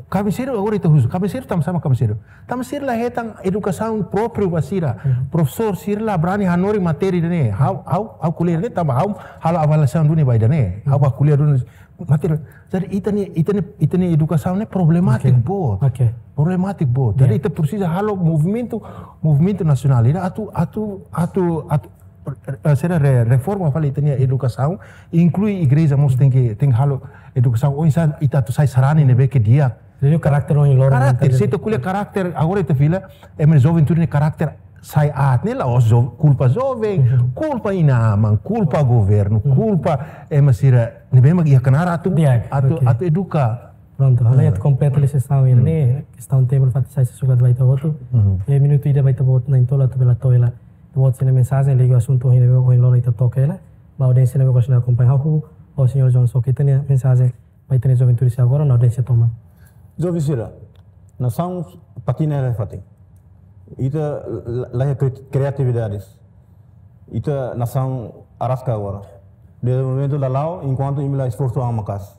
Kaben sedu, agora ita husu, kaben sedu tanba sá mak kaben sedu. Tanba sira la hetan edukasaun própriu ba sira. Profesór sira la brani hanorin matéria ne'e. Ha'u, ha'u, ha'u ko'alia ne'e, tanba ha'u halo avaliasaun duni ba ida-ne'e. Ha'u ba ko'alia duni matéria. Jadi ita-nia, ita-nia, ita-nia edukasaun ne'e problemátiku boot. Oke. Problemátiku boot. Jadi ita presiza halo movimentu, movimentu nasionál ida atu, atu, atu, atu, eh, sira re-, reforma fali ita-nia edukasaun, inklui igreja mós tenke, tenke halo edukasaun oinsá ita atu sai sarani ne'ebé ke di'ak. Jadi karakter ohin loron. Karakter, se ita ko'alia karakter, agora ita fila, ema joven tuir ne'e karakter sai aat ne'e la'ós jo-, kulpa joven, kulpa inan-aman, kulpa governu, kulpa ema sira ne'ebé mak iha knaar atu, atu, atu eduka. Prontu, ha'u atu kompleta liu sessão ini, kestaun tempu fatin sai sukat ba ita hotu. Iha minutu ida ba ita-boot na'in-tolu atu bele to'o hela ita-boot sira-nia mensajen liga asuntu ohin, ohin loron ita toka hela. Ba audiénsia ne'ebé ke akompaña ha'u, o señór João Soke, ita-nia mensajen ba ita-nia juventude sira agora, no audiénsia tomak. Joven sira, nasaun patina hela iha fatin. Ita la, la iha kri-, kriatividade. Ita nasaun araska agora. Dezenvolvimentu la la'o, enkuantu imi la esforsu an maka'as.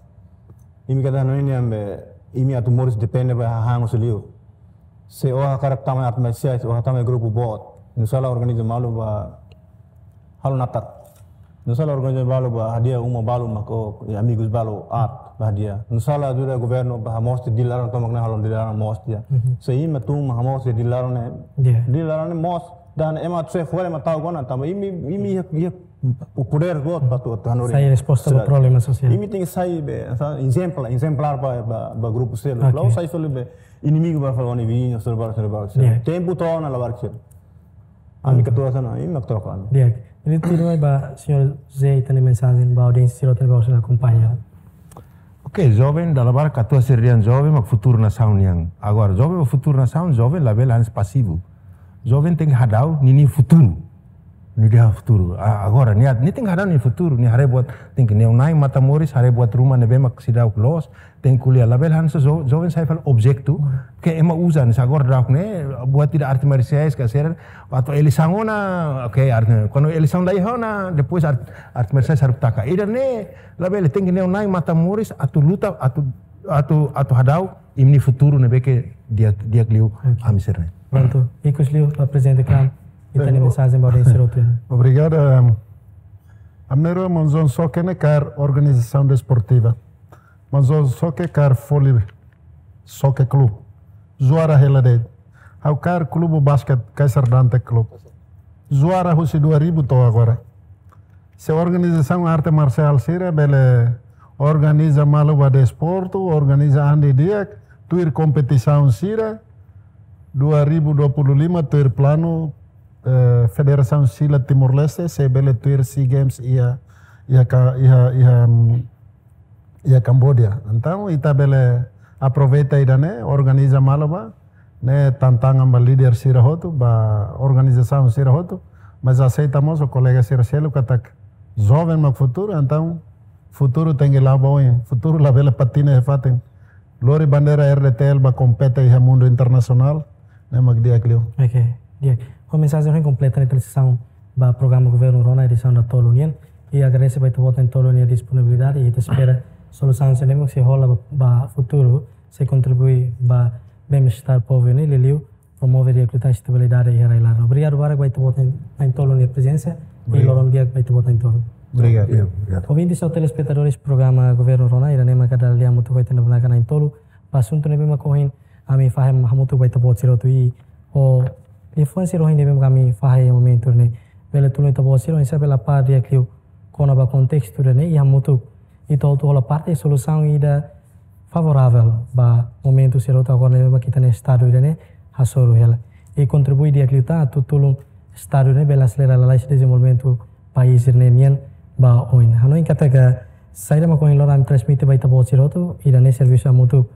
Imi kada no ini ambe, imi atu moris depende ba hahán husi liur. Se ó hakarak tama arte marsiais, ó tama grupu boot. Nusá la organiza malu ba halo natar. Nusá la organiza balu ba hadi'a uma balu mak ó, i amigus balu aat ba hadi'a. Nusá la ajuda governu ba hamoos tiha Dili laran tomak ne'e halo Dili laran moos tiha. Se imi tun mak hamoos tiha Dili laran ne'e. Dili laran ne'e moos. Dan ema atu sai fora ema tau kona tanba imi, imi iha, iha o podér boot ba atu, atu hanorin. Sai resposta ba problema sosiál. Imi tenke sai be, sa, ezemplu, ezemplár ba, ba, ba grupu seluk. La'ós sai soli be inimigu ba fali ó-nia viziñu, soli ba, soli ba. Tempu to'o ona labarik sira. Ami katuas ona, imi mak troka ami. Di'ak. Ita tuirmai ba señór José, ita-nia mensajen ba audiénsia sira hotu ne'ebé ke akompaña. Oke, joven, dala barak katuas sira dehan joven mak futuru nasaun nian. Agora, joven mak futuru nasaun, joven labele hanesan pasivu. Joven tenke hadau ninia futuru. Nia dehan futuru. A-, agora, nia, nia tenke hadau nia futuru, nia haree buat, tenke neon nai mata moris, haree buat ruma ne'ebé mak seidauk loos, tenke ko'alia, labele hanesan jo-, joven sai fali objetu ke ema uza, hanesan agora daudaun ne'e, buat ida arte marsiais ka sira, atu eleisaun ona, oke, arte, kuandu eleisaun la iha ona, depois art-, arte marsiais haruka taka. Ida-ne'e, labele, tenke neon nai mata moris, atu luta, atu, atu, atu hadau imi-nia futuru ne'ebé ke di'ak, di'ak liu ami sira-ne'e. Prontu, ikus liu, ba prezidente CRAM, ita-nia mensajen ba audiénsia sira hotu. Obrigadu. Ami rua maun João Soke ne'e kaer organizasaun desportiva. Maun João Soke kaer Foli Soccer Club. Juara hela de'it. Ha'u kaer klube basket Kaiser Dante Club. Juara husi dua ribu to'o agora. Se organizasaun arte marsiál sira bele organiza malu ba desportu, organiza an didi'ak, tuir kompetisaun sira, dua ribu dua puluh lima tuir planu, eh, Federasaun Sila Timor-Leste, sei bele tuir SEA Games iha, iha ka-, iha, iha, mm, iha Kamboja. Entaun, ita bele aproveita ida-ne'e, organiza malu ba, ne'e tantangan ba líder sira hotu, ba organizasaun sira hotu, mas aseita mós ho kolega sira seluk katak joven mak futuru, entaun futuru tenke la'o ba oin, futuru labele patina iha fatin. Lori bandeira RDTL ba kompete iha mundu internasionál, ne'e mak di'ak liu. Oke, di'ak. Ho mensajen ohin kompleta ita-nia sesaun ba programa Governu Rona edisaun datolu nian. I agradese ba ita-boot na'in-tolu nia disponibilidade, i ita espera solusaun sira ne'ebé sei hola ba, ba futuru, sei kontribui ba bem-estar povu ne'e, liuliu promove di'ak liután estabilidade iha rai-laran. Obrigadu barak ba ita-boot na'in-, na'in-tolu nia prezensa, i Obrigadu. loron di'ak ba ita-boot na'in-tolu. Obrigadu. Obrigadu. Ouvinte no telespetadores programa Governu Rona, ida-ne'e maka dala ida hamutuk ho ita-nia bainaka na'in-tolu, ba asuntu ne'ebé mak ohin ami fahe hamutuk ba ita-boot sira hotu, i ho liafuan sira ohin ne'ebé mak ami fahe iha momentu ne'e. Bele tulun ita-boot sira oinsá bele apá di'ak liu kona-ba kontestu ida-ne'e, i hamutuk ita hotu hola parte solusaun ida favoravel ba momentu sira hotu agora ne'ebé mak ita-nia estadu ida-ne'e hasoru hela. I kontribui di'ak liután atu tulun estadu ne'e bele aselera lalais dezenvolvimentu país sira-ne'e nian ba oin. Hanoin katak saida mak ohin loron ami transmite ba ita-boot sira hotu, ida-ne'e servisu hamutuk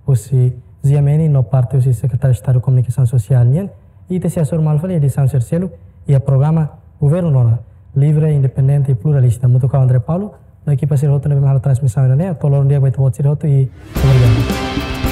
husi G M N no parte husi Sekretáriu Estadu Komunikasaun Sosiál nian. I ita sei hasoru malu fali edisaun sira seluk iha programa Governu Rona, livre, independente i pluralista. Hamutuk ho André Paulo no ekipa sira hotu ne'ebé mak halo transmisaun ida-ne'e, to'o loron di'ak ba ita-boot sira hotu i obrigadu.